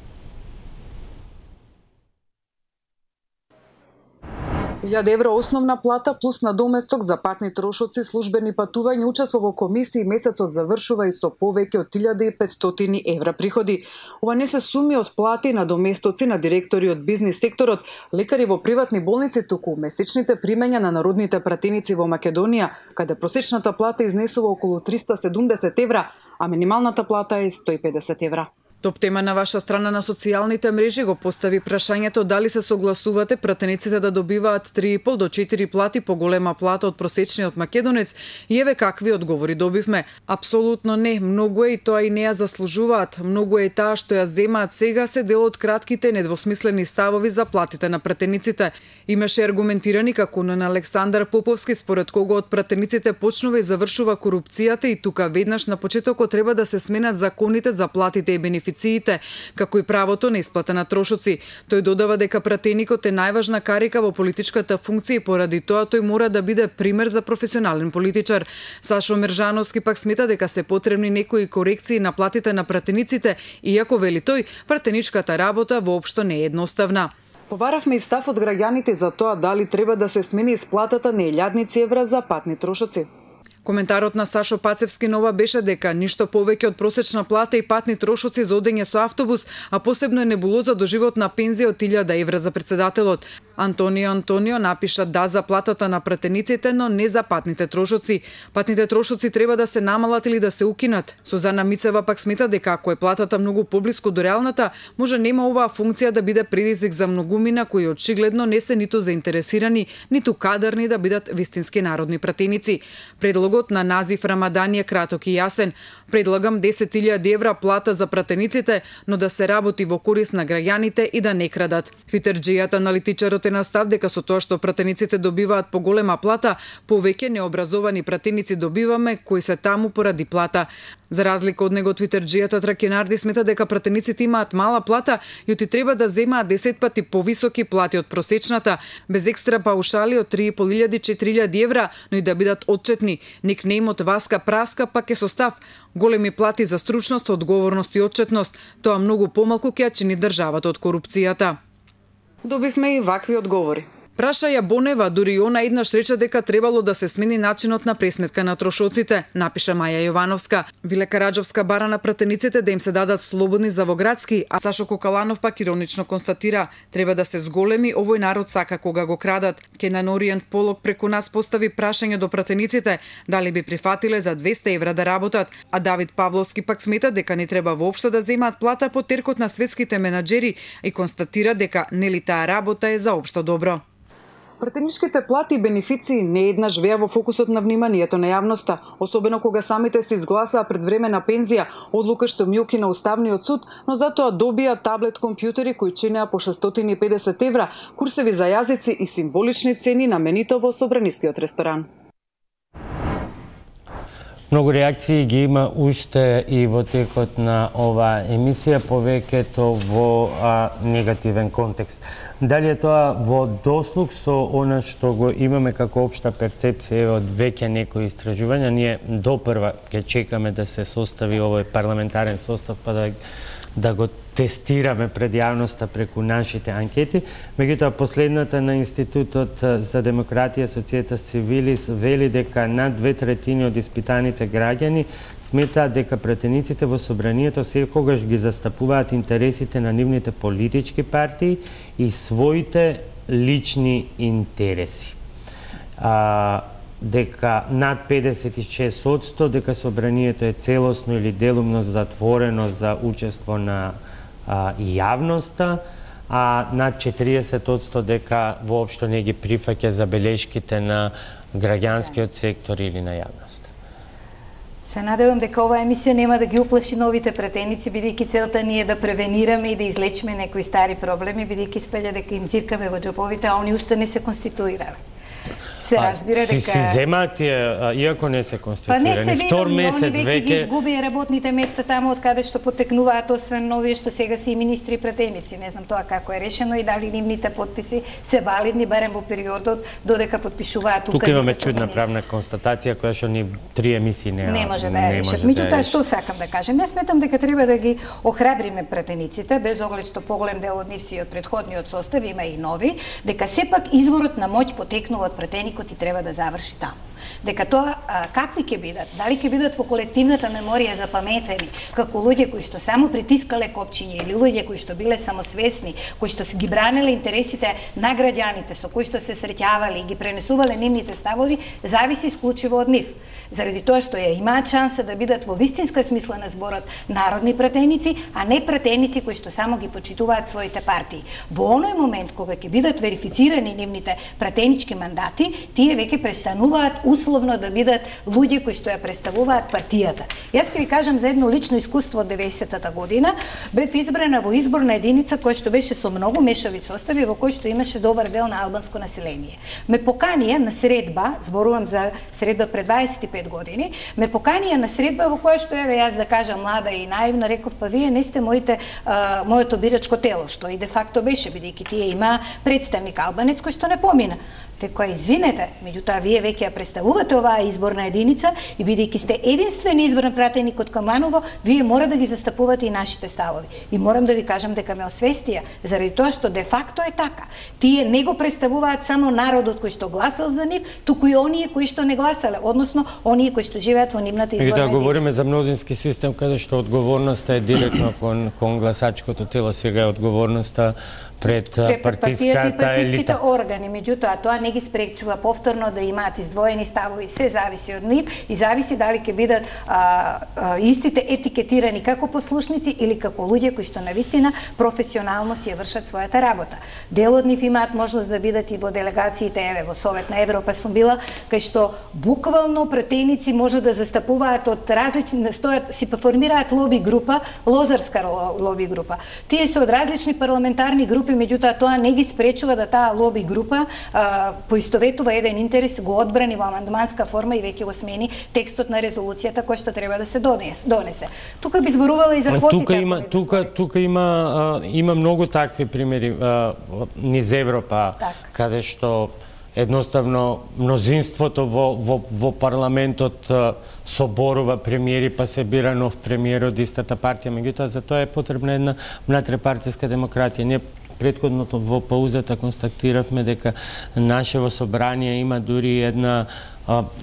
1000 евро основна плата плюс надоместок за патни трошоци, службени патувања, учество во комисии, месецот завршува и со повеќе од 1500 евра приходи. Ова не се суми од плати и надоместоци на директори од бизнис секторот, лекари во приватни болници, туку месечните примања на народните пратеници во Македонија, каде просечната плата изнесува околу 370 евра, а минималната плата е 150 евра. Топ тема на ваша страна на социјалните мрежи го постави прашањето дали се согласувате пратениците да добиваат 3,5 до 4 плати поголема плата од просечниот македонец и еве какви одговори добивме. Апсолутно не, многу е и тоа и не ја заслужуваат. Многу е таа што ја земаат сега се дел од кратките недвосмислени ставови за платите на пратениците. Имаше аргументирани како на Александар Поповски, според кого од пратениците почнува и завршува корупцијата и тука веднаш на почетокот треба да се сменат законите за платите и бенефициите бенефициите, како и правото на исплата на трошоци. Тој додава дека пратеникот е најважна карика во политичката функција и поради тоа тој мора да биде пример за професионален политичар. Сашо Мержановски пак смета дека се потребни некои корекции на платите на пратениците, иако вели тој, пратеничката работа воопшто не е едноставна. Побарахме и став од граѓаните за тоа дали треба да се смени исплатата на илјадници евра за патни трошоци. Коментарот на Сашо Пацевски нова беше дека ништо повеќе од просечна плата и патни трошоци за одење со автобус, а посебно е небулоза до животна пензија од 1000 евра за председателот. Антонио напиша да за платата на пратениците, но не за патните трошоци. Патните трошоци треба да се намалат или да се укинат. Сузана Мицева пак смета дека ако е платата многу поблиску до реалната, може нема оваа функција да биде предизвик за многумина кои очигледно не се ниту заинтересирани, ниту кадарни да бидат вистински народни пратеници. Предлогот на Назиф Рамадани е краток и јасен. Предлагам 10.000 евра плата за пратениците, но да се работи во корист на граѓаните и да не крадат. Твитерџијата аналитичарот е на став дека со тоа што пратениците добиваат поголема плата, повеќе необразовани пратеници добиваме кои се таму поради плата. За разлика од него, твитерџијата Тракинарди смета дека пратениците имаат мала плата и оти треба да земаат 10 пати повисоки плати од просечната, без екстра паушали од 3.500-4.000 евра, но и да бидат отчетни. Никнејмот Васка Праска пак е со став големи плати за стручност, одговорност и отчетност. Тоа многу помалку ќе чини државата од корупцијата. Добивме и вакви одговори. Праша Јабонева, дури и она еднаш рече дека требало да се смени начинот на пресметка на трошоците, напиша Маја Јовановска. Виле Караџовска бара на пратениците да им се дадат слободни за во градски, а Сашо Кокаланов пак иронично констатира: треба да се зголеми, овој народ сака кога го крадат. Кенан Ориент Полок преку нас постави прашање до пратениците дали би прифатиле за 200 евра да работат, а Давид Павловски пак смета дека не треба воопшто да земаат плата по теркот на светските менаџери и констатира дека нели таа работа е за општо добро. Пратеничките плати и бенефиции не еднаш беа во фокусот на вниманието на јавноста, особено кога самите се изгласаа пред време на пензија, одлука што мјуки на Уставниот суд, но затоа добија таблет компјутери кои чинеа по 650 евра, курсеви за јазици и символични цени на менито во Собранискиот ресторан. Многу реакции ги има уште и во текот на оваа емисија, повеќето во негативен контекст. Дали е тоа во дослуг со она што го имаме како општа перцепција од веќе некои истражувања? Ние допрва ќе чекаме да се состави овој парламентарен состав, па да го тестираме пред јавноста преку нашите анкети. Меѓутоа, последната на Институтот за демократија Societas Civilis вели дека над 2/3 од испитаните граѓани сметаат дека пратениците во собранието секогаш ги застапуваат интересите на нивните политички партии и своите лични интереси. Дека над 56% дека собранието е целосно или делумно затворено за учество на јавноста, а над 40% дека воопшто не ги прифаќа забелешките на граѓанскиот сектор или на јавноста. Се надевам дека оваа емисија нема да ги уплаши новите пратеници, бидејќи целта ни е да превенираме и да излечиме некои стари проблеми, бидејќи спелја дека им циркаме во џебовите, а они уште не се конституирале. Се разбира дека си земаат иако не се конституирани. Па не се втор види, месец они веќе ги изгубија работните места таму од каде што потекнуваат, освен овие што сега се и министри и пратеници. Не знам тоа како е решено и дали нивните потписи се валидни барем во периодот додека потпишуваат указите. Тука имаме чудна правна констатација која што ни 3 емисии не може да ја решат. Меѓутоа што сакам да кажем, јас сметам дека треба да ги охрабриме пратениците, без оглед што поголем дел од нив си од претходниот состав, има и нови, дека сепак изворот на моќ потекнува од пратеникот и треба да заврши таму. Дека тоа какви ќе бидат, дали ќе бидат во колективната меморија запаметени како луѓе кои што само притискале копчиња или луѓе кои што биле самосвесни, кои што ги бранеле интересите на граѓаните, со кои што се среќавале и ги пренесувале нивните ставови, зависи исклучиво од нив. Заради тоа што ја имаат шанса да бидат во вистинска смисла на зборот народни пратеници, а не пратеници кои што само ги почитуваат своите партии. Во оној момент кога ќе бидат верифицирани нивните пратенички мандати, тие веќе престануваат условно да бидат луѓе кои што ја представуваат партијата. Јас ќе ви кажам за едно лично искуство од 90-та година. Бев избрана во изборна единица која што беше со многу мешави состави, во кој што имаше добар дел на албанско население. Ме поканија на средба, зборувам за средба пред 25 години, ме поканија на средба во која што јас да кажам млада и наивна, реков па вие не сте моето бирачко тело, што и де факто беше, бидејќи тие има представник албанец кој што не помина. Рекоа, извинете, меѓутоа вие веќе ја представувате оваа изборна единица и бидејќи сте единствен избран пратеник од Каманово, вие мора да ги застапувате и нашите ставови. И морам да ви кажам дека ме освестија, заради тоа што де факто е така. Тие не го представуваат само народот кој што гласал за нив, туку и оние кои што не гласале, односно оние кои што живеат во нивната изборна единица. Да говориме за мнозински систем каде што одговорноста е директно кон гласачкото тело, сега е одговорноста пред партиската и партиските органи. Меѓутоа, тоа не ги спречува повторно да имаат издвоени ставови, се зависи од нив и зависи дали ќе бидат истите етикетирани како послушници или како луѓе кои што навистина професионално си ја вршат својата работа. Дел од нив имаат можност да бидат и во делегациите, еве, во Совет на Европа сум била, кај што буквално пратеници може да застапуваат од различни, стојат, си формираат лоби група, лозарска лоби група. Тие се од различни парламентарни групи, меѓутоа тоа не ги спречува да таа лоби група поистоветува еден интерес, го одбрани во амандманска форма и веќе го смени текстот на резолуцијата која што треба да се донесе. Тука би зборувала и за квотите. Тука има многу такви примери низ Европа, каде што едноставно мнозинството во парламентот соборува премиери, па се бира нов премиер од истата партија, меѓутоа за тоа е потребна една внатрепартиска демократија. Ние претходното во паузата констатиравме дека нашево собрание има дури една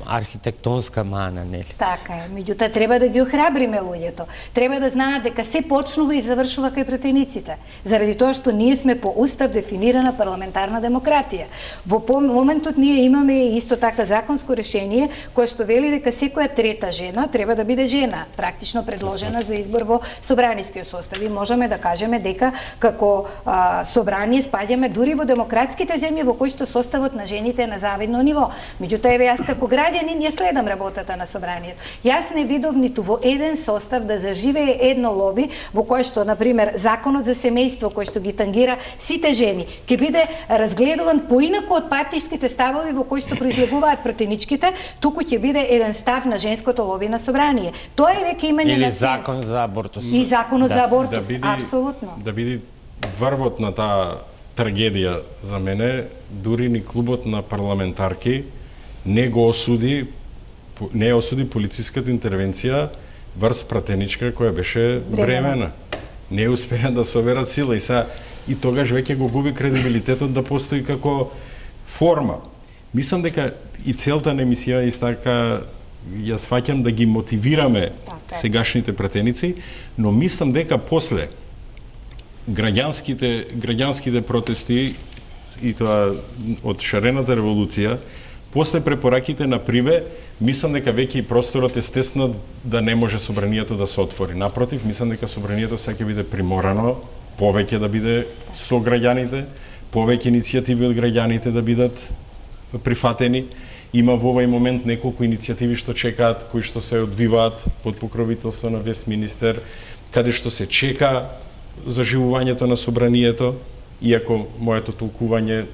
архитектонска мана, нели? Така е, меѓутоа треба да ги охрабриме луѓето. Треба да знаат дека се почнува и завршува кај пратениците, заради тоа што ние сме по устав дефинирана парламентарна демократија. Во моментот ние имаме исто така законско решение кое што вели дека секоја трета жена треба да биде жена, практично предложена за избор во собранискиот состав. И можеме да кажеме дека како собрание спаѓаме дури во демократските земји во кои што составот на жените е на завидно ниво. Меѓутоа еве јас како граѓанин ја следам работата на собранието. Јас не видов ниту во еден состав да заживее едно лоби во кое што, например, законот за семејство кој што ги тангира сите жени, ќе биде разгледуван поинаку од партиските ставови во кои што произлегуваат пратеничките, туку ќе биде еден став на женското лоби на собрание. Тоа е веќе имање на сенс. Или закон за абортус. И законот за абортус, апсолутно. Да биде врвот на таа трагедија за мене, дури ни клубот на парламентарки не осуди полициската интервенција врз пратеничка која беше бремена. Не успеа да соберат сила и тогаш веќе го губи кредибилитетот да постои како форма. Мислам дека и целта на емисија истака ја сваќам да ги мотивираме сегашните пратеници, но мислам дека после граѓанските протести и тоа од шарената револуција, после препораките на Приве, мислам дека веќе и просторот е стеснат да не може собранието да се отвори. Напротив, мислам дека собранието сега ќе биде приморано повеќе да биде со граѓаните, повеќе иницијативи од граѓаните да бидат прифатени. Има во овој момент неколку иницијативи што чекаат, кои што се одвиваат под покровителство на Вестминистер, каде што се чека заживувањето на собранието, иако моето толкување,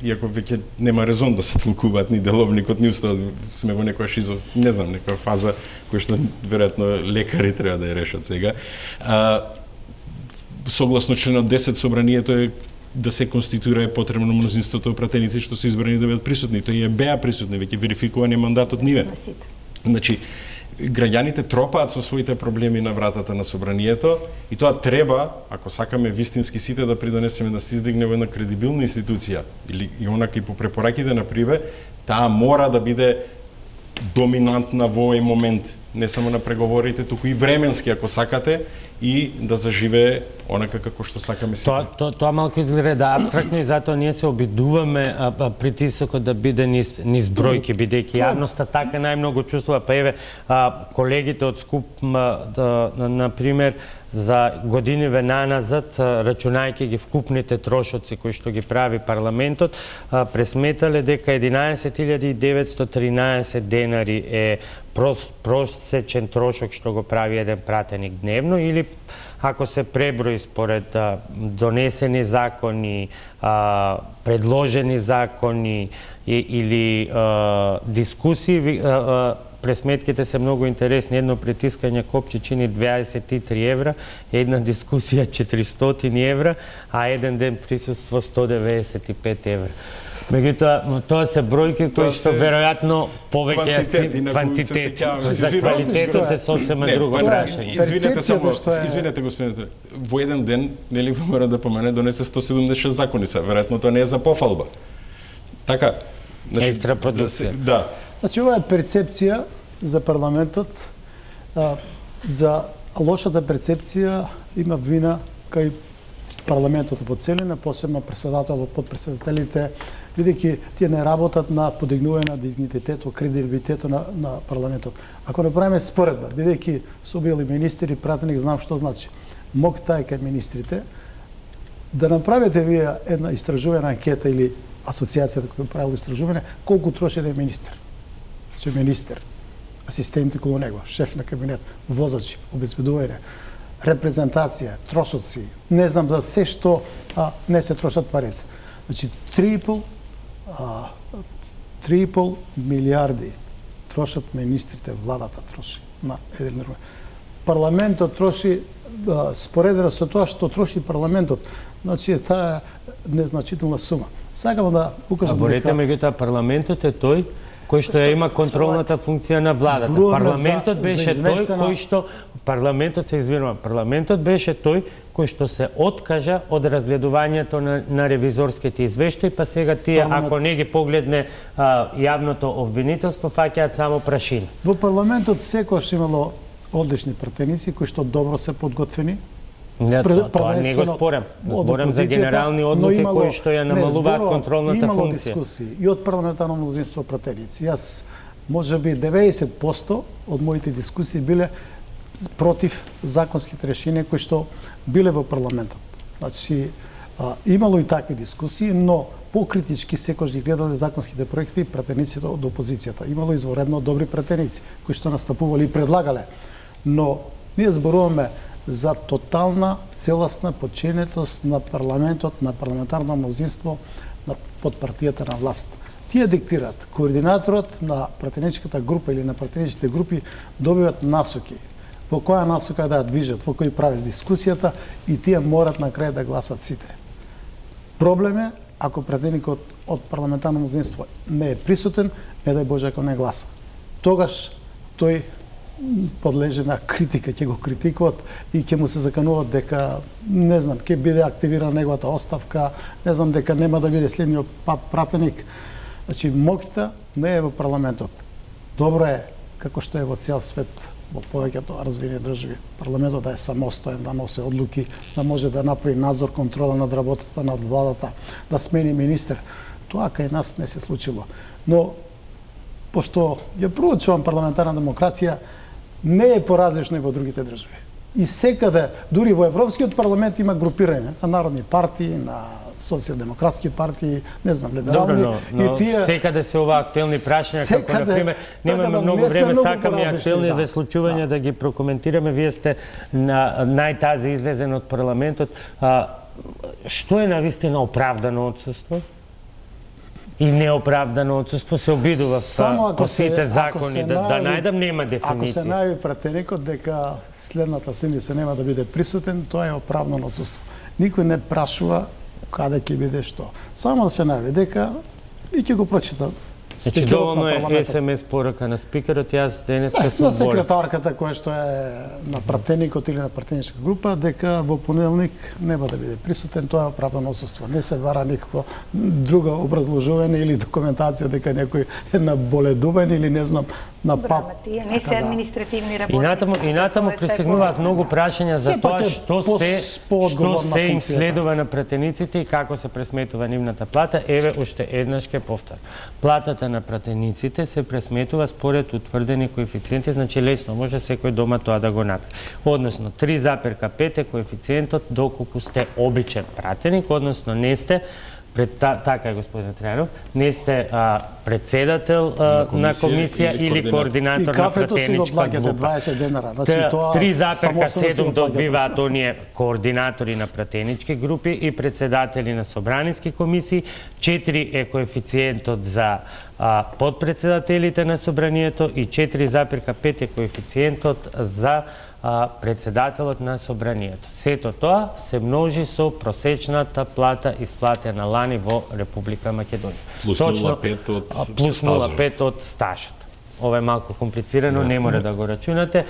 иако веќе нема резон да се толкуваат ни деловникот, ни уставот, сме во некоја шизов, не знам, некоја фаза која што веројатно лекари треба да ја решат сега. Согласно членот 10 собранието е да се конституира е потребно мнозинството пратеници што се избрани да бидат присутни. Тој беа присутни, веќе верификувани мандатот ниве. Значи, граѓаните тропаат со своите проблеми на вратата на собранието и тоа треба, ако сакаме вистински сите да придонесеме да се издигне во една кредибилна институција или и онака и по препораките на Приве, таа мора да биде доминантна во овој момент не само на преговорите, туку и временски, ако сакате, и да заживее онака како што сакаме сите. Тоа малку изгледа абстрактно и затоа ние се обидуваме притисокот да биде низ бројки, бидејќи јавноста така најмногу чувствува. Па еве, колегите од СКУП, например, за годиниве наназад, рачунајќи ги вкупните трошоци кои што ги прави парламентот, пресметале дека 11.913 денари е просечен трошок што го прави еден пратеник дневно, или ако се преброи според донесени закони, предложени закони или дискусии, пресметките се многу интересни. Едно притискање копче чини 23 евра, една дискусија 400 евра, а еден ден присуство 195 евра. Меѓутоа, тоа се бројки кои што веројатно повеќе квантитет. За квалитетот е сосема друго прашање. Извинете, господине, во еден ден, нели мора да помене, донесе 176 закони се, веројатно тоа не е за пофалба. Така, екстра продукција. Да. Значи, ова е перцепција за парламентот, за лошата перцепција има вина кај парламентот во целина, посебно председателот, подпредседателите, бидејќи тие не работат на подигнување на дигнитетот, кредибилитетот на парламентот. Ако направиме споредба, бидејќи су били министри, пратеник, знам што значи. Моќта е кај министрите да направите вие една истражувања анкета или асоциацијата која правила истражување, колку троши да е министер. Значи министер, асистенти околу него, шеф на кабинет, возачи, обезбедување, репрезентација, трошоци, не знам за се што не се трошат парите. Значи 3,5 милиарди трошат министрите, владата троши на еден друг. Парламентот троши, споредено со тоа што троши парламентот, значи таа незначителна сума. Сакам да укажам дека... меѓутоа парламентот е тој кој што ја има контролната функција на владата. Парламентот беше тој кој што парламентот беше тој кој што се откажа од разгледувањето на ревизорските извештаи, па сега тие ако не ги погледне јавното обвинителство, фаќаат само прашина. Во парламентот секогаш имало одлични пратеници кои што добро се подготвени. Тоа не го спорам. Зборам за генерални одлуки кои што ја намалуваат контролната функција. Имало дискусии и од парламентарно мнозинство пратеници. Јас можеби 90% од моите дискусии биле против законските решенија кои што биле во парламентот. Значи, имало и такви дискусии, но покритички секој ги гледале законските проекти пратениците од опозицијата. Имало изворедно добри пратеници кои што настапувале и предлагале. Но ние зборуваме за тотална, целосна подчинетост на парламентот, на парламентарно мнозинство, под партијата на власт. Тие диктираат. Координаторот на пратеничката група или на пратеничките групи добиваат насоки. Во која насока да ја движат, во кој правец дискусијата и тие морат на крај да гласат сите. Проблем е ако пратеникот од парламентарно мнозинство не е присутен, не дај Боже ако не гласа. Тогаш тој подлежи на критика, ќе го критикуват и ќе му се закануваат дека, не знам, ќе биде активирана неговата оставка, не знам, дека нема да биде следниот пратеник. Значи, моќта не е во парламентот. Добро е, како што е во цел свет, во повеќето развивени држави, парламентот да е самостоен, да носи одлуки, да може да направи надзор, контрола над работата на владата, да смени министер. Тоа кај нас не се случило. Но, пошто ја проучувам парламентарна демократија, не е поразлично и во другите држави. И секаде, дури во Европскиот парламент има групирање на народни партии, на социјалдемократски партии, не знам, либерални. Добро, но тие... секаде се ова актуелни прашања, како, например, немаме многу време, сакаме актуелни случувања да ги прокоментираме. Вие сте на најтази излезен од парламентот. Што е навистина оправдано отсуство? И неоправдано отсуство се обидува по сите закони, да најдам нема дефиниција. Ако се најави пратеникот дека следната седмица нема да биде присутен, тоа е оправдано отсуство. Никој не прашува каде ќе биде што. Само да се најави дека и ќе го прочита. Значи, доволно е СМС порака на спикерот, јас денеска сум на секретарката која што е на пратеникот или на пратеничка група, дека во понеделник нема да биде присутен, тоа е оправдано отсуство. Не се вара никакво друго образложување или документација дека некој е наболедуван или не знам на Брама, тие не се административни работници. И натаму пристигнуваат многу прашања за тоа што се им следува на пратениците и како се пресметува нивната плата. Еве уште еднаш ке повтор. Платата на пратениците се пресметува според утврдени коефициенти, значи лесно може секој дома тоа да го направи. Односно 3,5 е коефициентот доколку сте обичен пратеник, односно не сте така е, господин Трајанов, не сте председател на комисија или координатор на пратеничка група. 20 денара. Значи, 3,7 добиваат оние координатори на пратенички групи и председатели на собраниски комисии. 4 е коефициентот за подпредседателите на собранието и 4,5 е коефициентот за председателот на собранието. Сето тоа се множи со просечната плата исплатена лани во Република Македонија. Плюс 0,5 од стажот. Ова е малку комплицирано, не може да го рачунате.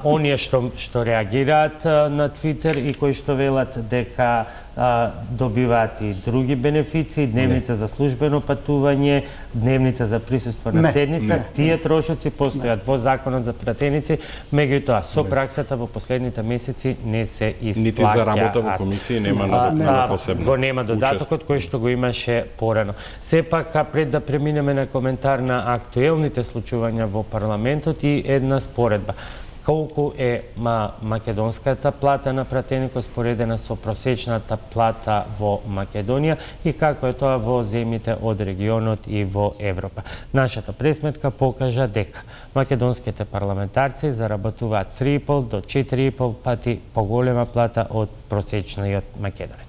Оние што реагираат на Твитер и кои што велат дека добиваат и други бенефиции, дневница за службено патување, дневница за присуство на седница, тие трошоци постојат во законот за пратеници, меѓутоа со праксата во последните месеци не се исплаќаат. Нити за работа во комисија нема посебно. Го нема додатокот кој што го имаше порано. Сепак, пред да преминеме на коментар на актуелните случувања во парламентот и една споредба. Колку е македонската плата на пратеникот споредена со просечната плата во Македонија и како е тоа во земјите од регионот и во Европа. Нашата пресметка покажа дека македонските парламентарци заработуваат 3,5 до 4,5 пати поголема плата од просечниот македонец.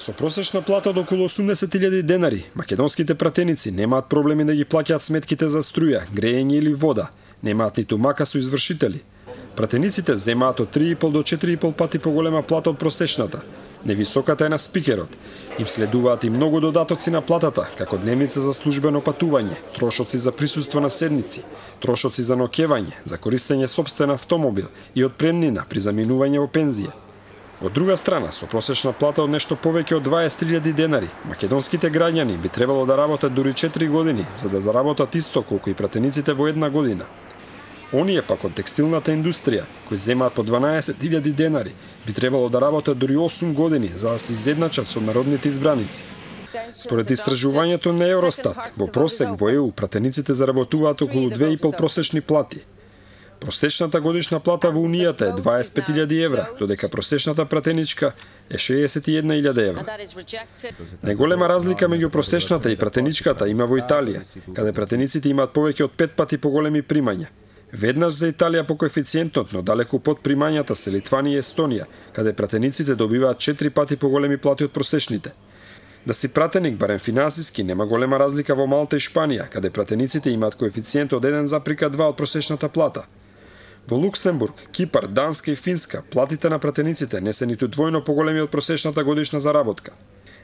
Со просечна плата од околу 80.000 денари, македонските пратеници немаат проблеми да ги плаќаат сметките за струја, грејење или вода, немаат ниту мака со извршители. Пратениците земаат од 3,5 до 4,5 пати поголема плата од просечната. Невисоката е на спикерот. Им следуваат и многу додатоци на платата, како дневница за службено патување, трошоци за присуство на седници, трошоци за ноќевање, за користење сопствен автомобил и отпремнина при заминување во пензија. Од друга страна, со просечна плата од нешто повеќе од 20.000 денари, македонските граѓани би требало да работат дури 4 години за да заработат исто колку и пратениците во една година. Оние пак од текстилната индустрија, кои земаат по 12.000 денари, би требало да работат дури 8 години за да се изедначат со народните избраници. Според истражувањето на Евростат, во просек во ЕУ пратениците заработуваат околу 2,5 просечни плати. Просечната годишна плата во Унијата е 25.000 евра, додека просечната пратеничка е 61.000 евра. Најголема разлика меѓу просечната и пратеничката има во Италија, каде пратениците имаат повеќе од 5 пати поголеми примања. Веднаш за Италија по коефициентот, но далеку под примањата се Литванија и Естонија, каде пратениците добиваат 4 пати поголеми плати од просечните. Да си пратеник, барем финансиски, нема голема разлика во Малта и Шпанија, каде пратениците имаат коефициент од 1,2 од просечната плата. Во Луксембург, Кипар, Данска и Финска, платите на пратениците не се ниту двојно поголеми од просечната годишна заработка.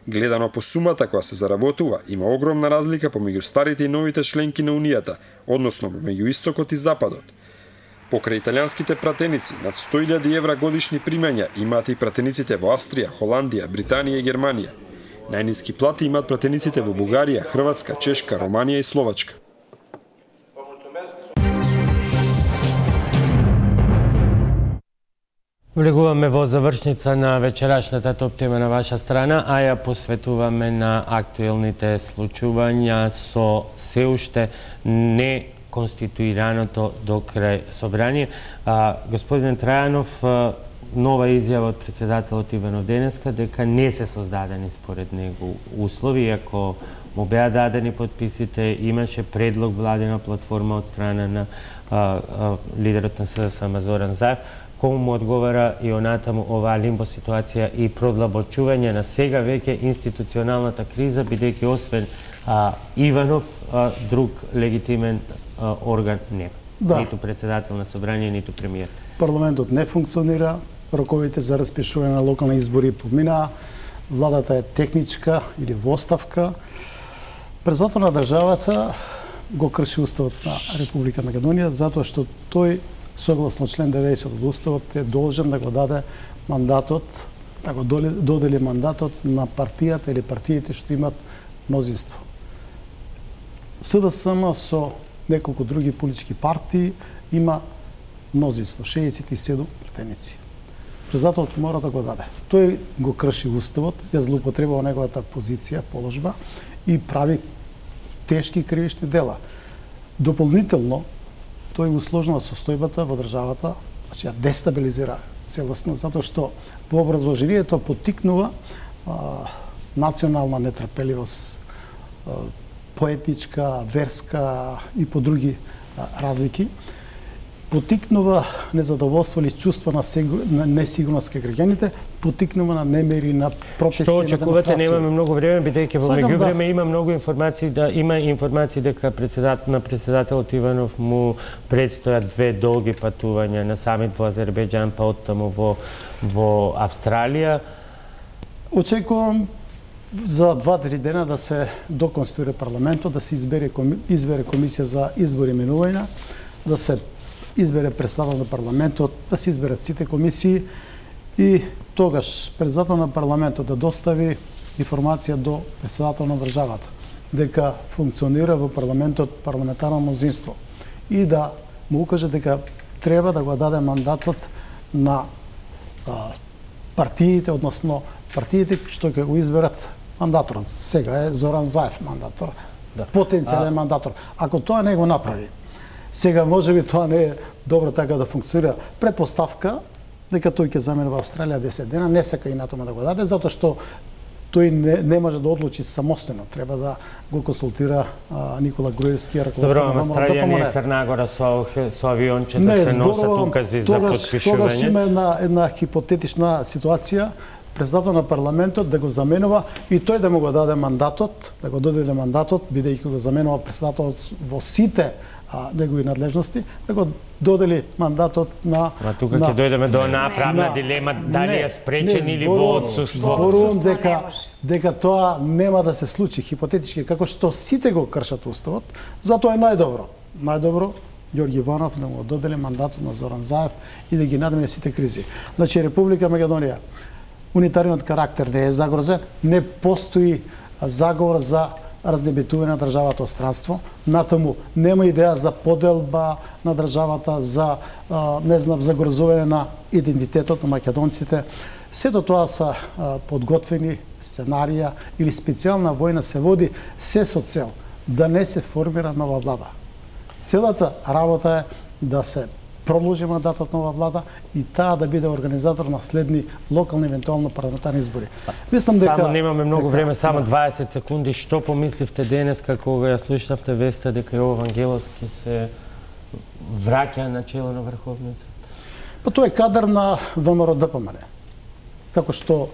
Гледано по сумата која се заработува, има огромна разлика помеѓу старите и новите членки на Унијата, односно меѓу истокот и западот. Покрај италијанските пратеници, над 100.000 евра годишни примања имаат и пратениците во Австрија, Холандија, Британија и Германија. Најниски плати имаат пратениците во Бугарија, Хрватска, Чешка, Романија и Словачка. Влегуваме во завршница на вечерашната топ тема на ваша страна, а ја посветуваме на актуелните случувања со се уште не конституираното до крај собрание. Господин Трајанов, нова изјава од председателот Иванов денеска дека не се создадени според него услови, иако му беа дадени подписите, имаше предлог владина платформа од страна на лидерот на СДСМ Зоран Заев. Кому му одговара и онатаму оваа лимбо ситуација и продлабочување на сега веќе институционалната криза, бидејќи освен Иванов, друг легитимен орган нема. Да. Ниту председател на собрание, ниту премиер. Парламентот не функционира, роковите за распишување на локални избори поминаа, владата е техничка или во оставка. Президентот на државата го крши уставот на Република Македонија затоа што тој согласно член 90 од уставот е должен да го даде мандатот, да го додели мандатот на партијата или партиите што имат мнозинство. СДСМ со неколку други политички партии има мнозинство, 67 пратеници. Президентот мора да го даде. Тој го крши уставот, ја злоупотребува неговата позиција, положба и прави тешки кривични дела. Дополнително, тој усложнува состојбата во државата, значи ја дестабилизира целосно, затоа што во образложението поттикнува национална нетрпеливост, поетничка, верска и по други разлики, поттикнува незадоволство или чувство на несигурност кај граѓаните, поттикнува на немири, на протести, Што на очекувате? демонстрации. Немаме многу време, бидејќи во Сакам меѓувреме има многу информации дека председателот Иванов му предстојат 2 долги патувања на самит во Азербејџан, па оттаму во Австралија. Очекувам за 2-3 дена да се доконституира парламентот, да се избере комисија за избор и именувања, да се избере председател на парламентот, да се изберат сите комисии и тогаш председател на парламентот да достави информација до председател на државата дека функционира во парламентот парламентарно мнозинство и да му укаже дека треба да го даде мандатот на партиите, односно партиите што ќе го изберат мандаторот. Сега е Зоран Заев мандатор, потенцијален мандатор. Ако тоа не го направи, сега можеби тоа не е добро така да функционира. Предпоставка дека тој ќе замине во Австралија 10 дена, не сака и натома да го даде, затоа што тој не може да одлучи самостојно. Треба да го консултира Никола Груевски, Добро, Австралија не е Црна Гора со авионче да се носат укази за потпишување. Тогаш има една хипотетична ситуација, председател на парламентот да го заменува и тој да му го даде мандатот, да го доделе мандатот, бидејќи го заменува председателот во сите негови надлежности, да го додели мандатот на... тука ќе дојдеме до онаа правна дилема, дали е спречен или во отсуство. Зборувам дека тоа нема да се случи хипотетички, како што сите го кршат уставот, затоа е најдобро Ѓорги Иванов да му додели мандатот на Зоран Заев и да ги надмине сите кризи. Значи, Република Македонија, унитарниот карактер не е загрозен, не постои заговор за разнебитување на државата од странство, натаму нема идеја за поделба на државата, за загрозување на идентитетот на македонците. Сето тоа се подготвени сценарија или специјална војна се води се со цел да не се формира нова влада. Целата работа е да се продолжи мандатот нова влада и таа да биде организатор на следни локални евентуално парламентарни избори. Мислам дека само немаме многу време, само 20 секунди. Што помисливте денес кога ја слушнавте веста дека Јово Вангеловски се враќа на чело на Врховниот? Па тоа е кадар на ВМРО-ДПМН. Како што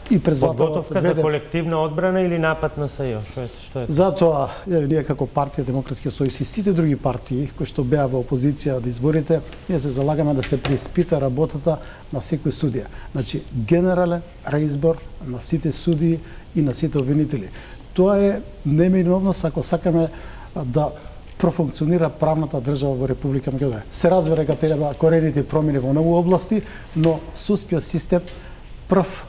и председателот подготовка за колективна одбрана или напад на СЈО? Што е? Затоа ние како партија Демократски сојуз и сите други партии кои што беа во опозиција од изборите, ние се залагаме да се преиспита работата на секој судија. Значи генерален реизбор на сите судии и на сите обвинители. Тоа е неминовност ако сакаме да профункционира правната држава во Република Македонија. Се разбира дека треба корените промени во многу области, но судскиот систем прв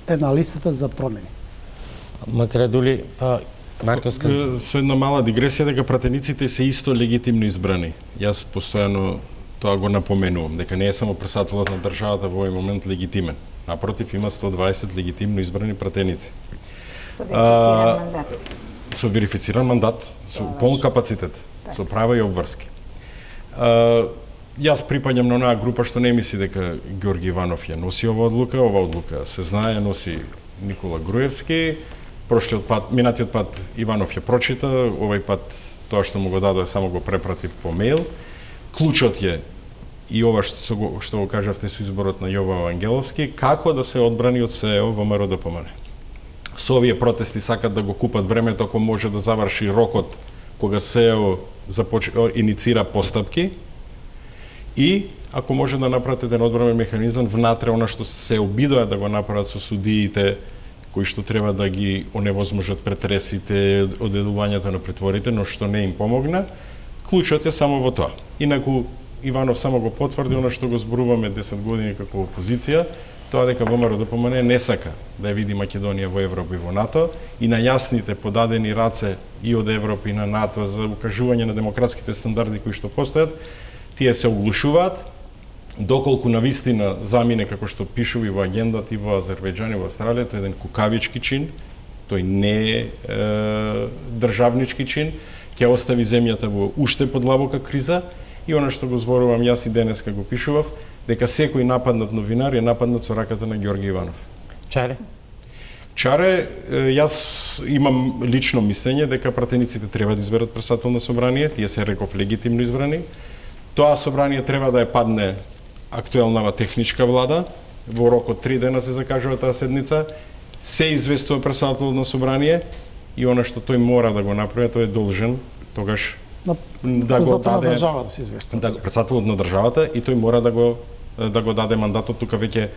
е на листата за промени. Макредули, Марковска... Со една мала дигресија дека пратениците се исто легитимно избрани. Јас постојано тоа го напоменувам, дека не е само председателот на државата во овој момент легитимен. Напротив, има 120 легитимно избрани пратеници. Со верифициран мандат. Со верифициран мандат, со полн капацитет, со права и обврски. Јас припаѓам на онаа група што не мисли дека Ѓорги Иванов ја носи оваа одлука се знае, носи Никола Груевски. Прошлиот пат, минатиот пат Иванов ја прочита, овој пат тоа што му го дадоа само го препрати по мејл. Клучот е и ова што го кажавте со изборот на Јово Вангеловски, како да се одбрани од СЈО во ВМРО-ДПМН. Со овие протести сакат да го купат времето ако може да заврши рокот кога СЈО иницира постапки, и ако може да направат еден одбранен механизам внатре она што се обидоа да го направат со судиите кои што треба да ги оневозможат претресите, одедувањето на притворите, но што не им помогна, клучот е само во тоа. Инаку Иванов само го потврди она што го зборуваме 10 години како опозиција, тоа дека ВМРО ДПМН не сака да ја види Македонија во Европа и во НАТО и на јасните подадени раце и од Европа и на НАТО за укажување на демократските стандарди кои што постојат, тие се оглушуваат, доколку навистина замине како што пишува и во агендата и во Азербејџан и во Австралија, тој е еден кукавички чин, тој не е државнички чин, ќе остави земјата во уште подлабока криза и она што го зборувам јас и денеска го пишував, дека секој нападнат новинар е нападнат со раката на Ѓорги Иванов. Чаре? Чаре, јас имам лично мислење дека пратениците треба да изберат председател на собрание, тие се реков легитимно избрани. Тоа собрание треба да ја падне актуелнава техничка влада, во рок од 3 дена се закажува таа седница, се известува председател на собрание и она што тој мора да го направи, тој е должен тогаш да го даде на државата се известува. Да, председателот на државата и тој мора да го даде мандатот, тука веќе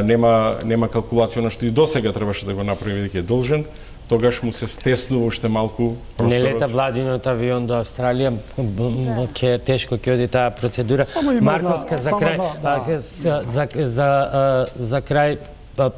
нема калкулација на што и досега требаше да го направи веќе е должен. Тогаш му се стеснува уште малку просторот. Не лета владинот авион до Австралија, ќе тешко ќе оди таа процедура. Марковска за крај, за крај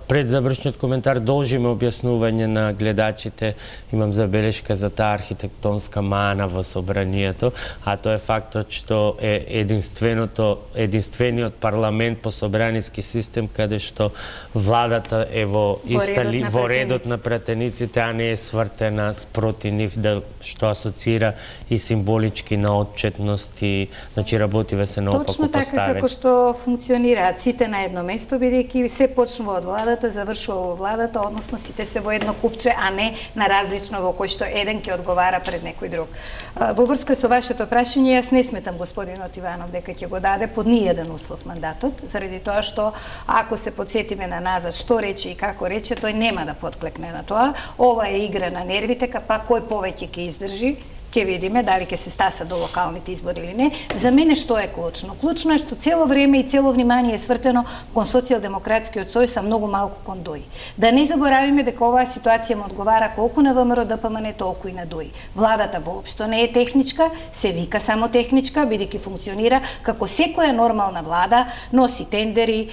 пред завршниот коментар должиме објаснување на гледачите, имам забелешка за таа архитектонска мана во собранието, а тоа е фактот што е единствениот парламент по собраниски систем каде што владата е во редот на пратениците, а не е свртена спроти нив, што асоцира и символички на отчетност и значи работиве се наопаку поставени. Точно така како што функционираат сите на едно место, бидејќи се почнува од владата, завршува во владата, односно сите се во едно купче, а не на различно во кој што еден ќе одговара пред некој друг. Во врска со вашето прашање, јас не сметам господинот Иванов дека ќе го даде под ниеден услов мандатот, заради тоа што ако се подсетиме на назад што рече и како рече, тој нема да подклекне на тоа. Ова е игра на нервите, па кој повеќе ќе издржи. Ќе видиме дали ќе се стаса до локалните избори или не. За мене што е клучно? Клучно е што цело време и цело внимание е свртено кон социјалдемократскиот сојуз, а многу малку кон ДОИ. Да не заборавиме дека оваа ситуација му одговара колку на ВМРО ДПМН, толку и на ДОИ. Владата воопшто не е техничка, се вика само техничка, бидејќи функционира како секоја нормална влада, носи тендери,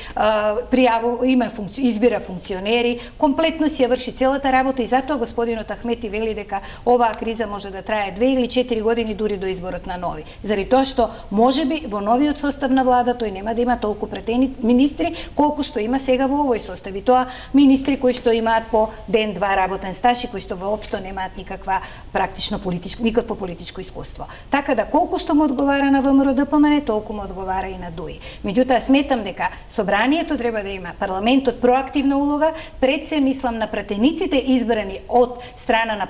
избира функционери, комплетно си ја врши целата работа и затоа господинот Ахмети вели дека оваа криза може да трае 2 или 4 години дури до изборот на нови. Заради тоа што можеби во новиот состав на влада тој нема да има толку претени министри колку што има сега во овој состав. И тоа министри кои што имаат по ден-два работен стаж и кои што воопшто немаат никакво политичко искуство. Така да колку што му одговара на ВМРО ДПМН, толку му одговара и на ДОИ. Меѓутоа сметам дека собранието треба да има, парламентот проактивна улога, пред се мислам на пратениците избрани од страна на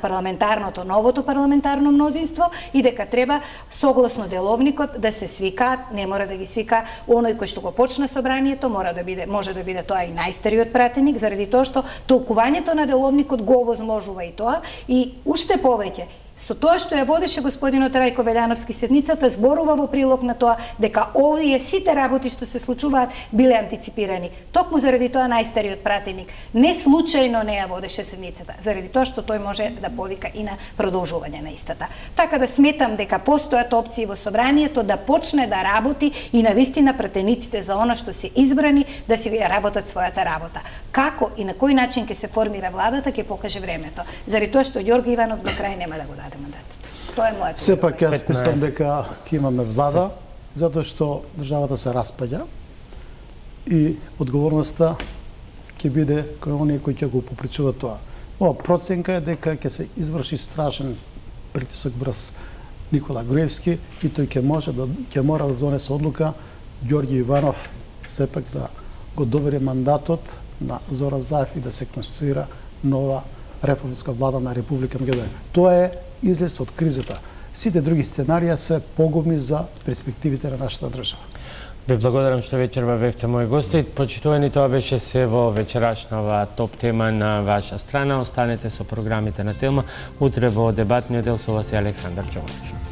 новото парламентарно мнозинство и дека треба согласно деловникот да се свикаат, не мора да ги свика оној кој што го почна собранието, може да биде тоа и најстариот пратеник, заради тоа што толкувањето на деловникот го овозможува и тоа, и уште повеќе со тоа што ја водеше господинот Рајко Велјановски седницата, зборува во прилог на тоа дека овие сите работи што се случуваат биле антиципирани. Токму заради тоа најстариот пратеник не случајно не ја водеше седницата, заради тоа што тој може да повика и на продолжување на истата. Така да сметам дека постојат опции во собранието да почне да работи и навистина пратениците за она што се избрани да си ја работат својата работа. Како и на кој начин ќе се формира владата ќе покаже времето. Заради тоа што Ѓорги Иванов до крај нема да го даде мандатот. Тоа е моето. Сепак јас мислам дека ќе имаме влада, затоа што државата се распаѓа и одговорноста ќе биде кој оние кои ќе го попречуваат тоа. Ова проценка е дека ќе се изврши страшен притисок врз Никола Груевски и тој ќе мора да донесе одлука Ѓорги Иванов сепак да го довери мандатот на Зоран Заев и да се конституира нова реформска влада на Република Македонија. Тоа е излез од кризата. Сите други сценарија се погубни за перспективите на нашата држава. Ве благодарам што вечерва бевте мои гости. Почитувани, тоа беше се во вечерашнава топ тема на ваша страна. Останете со програмите на Телма. Утре во дебатниот дел со вас е Александар Џовски.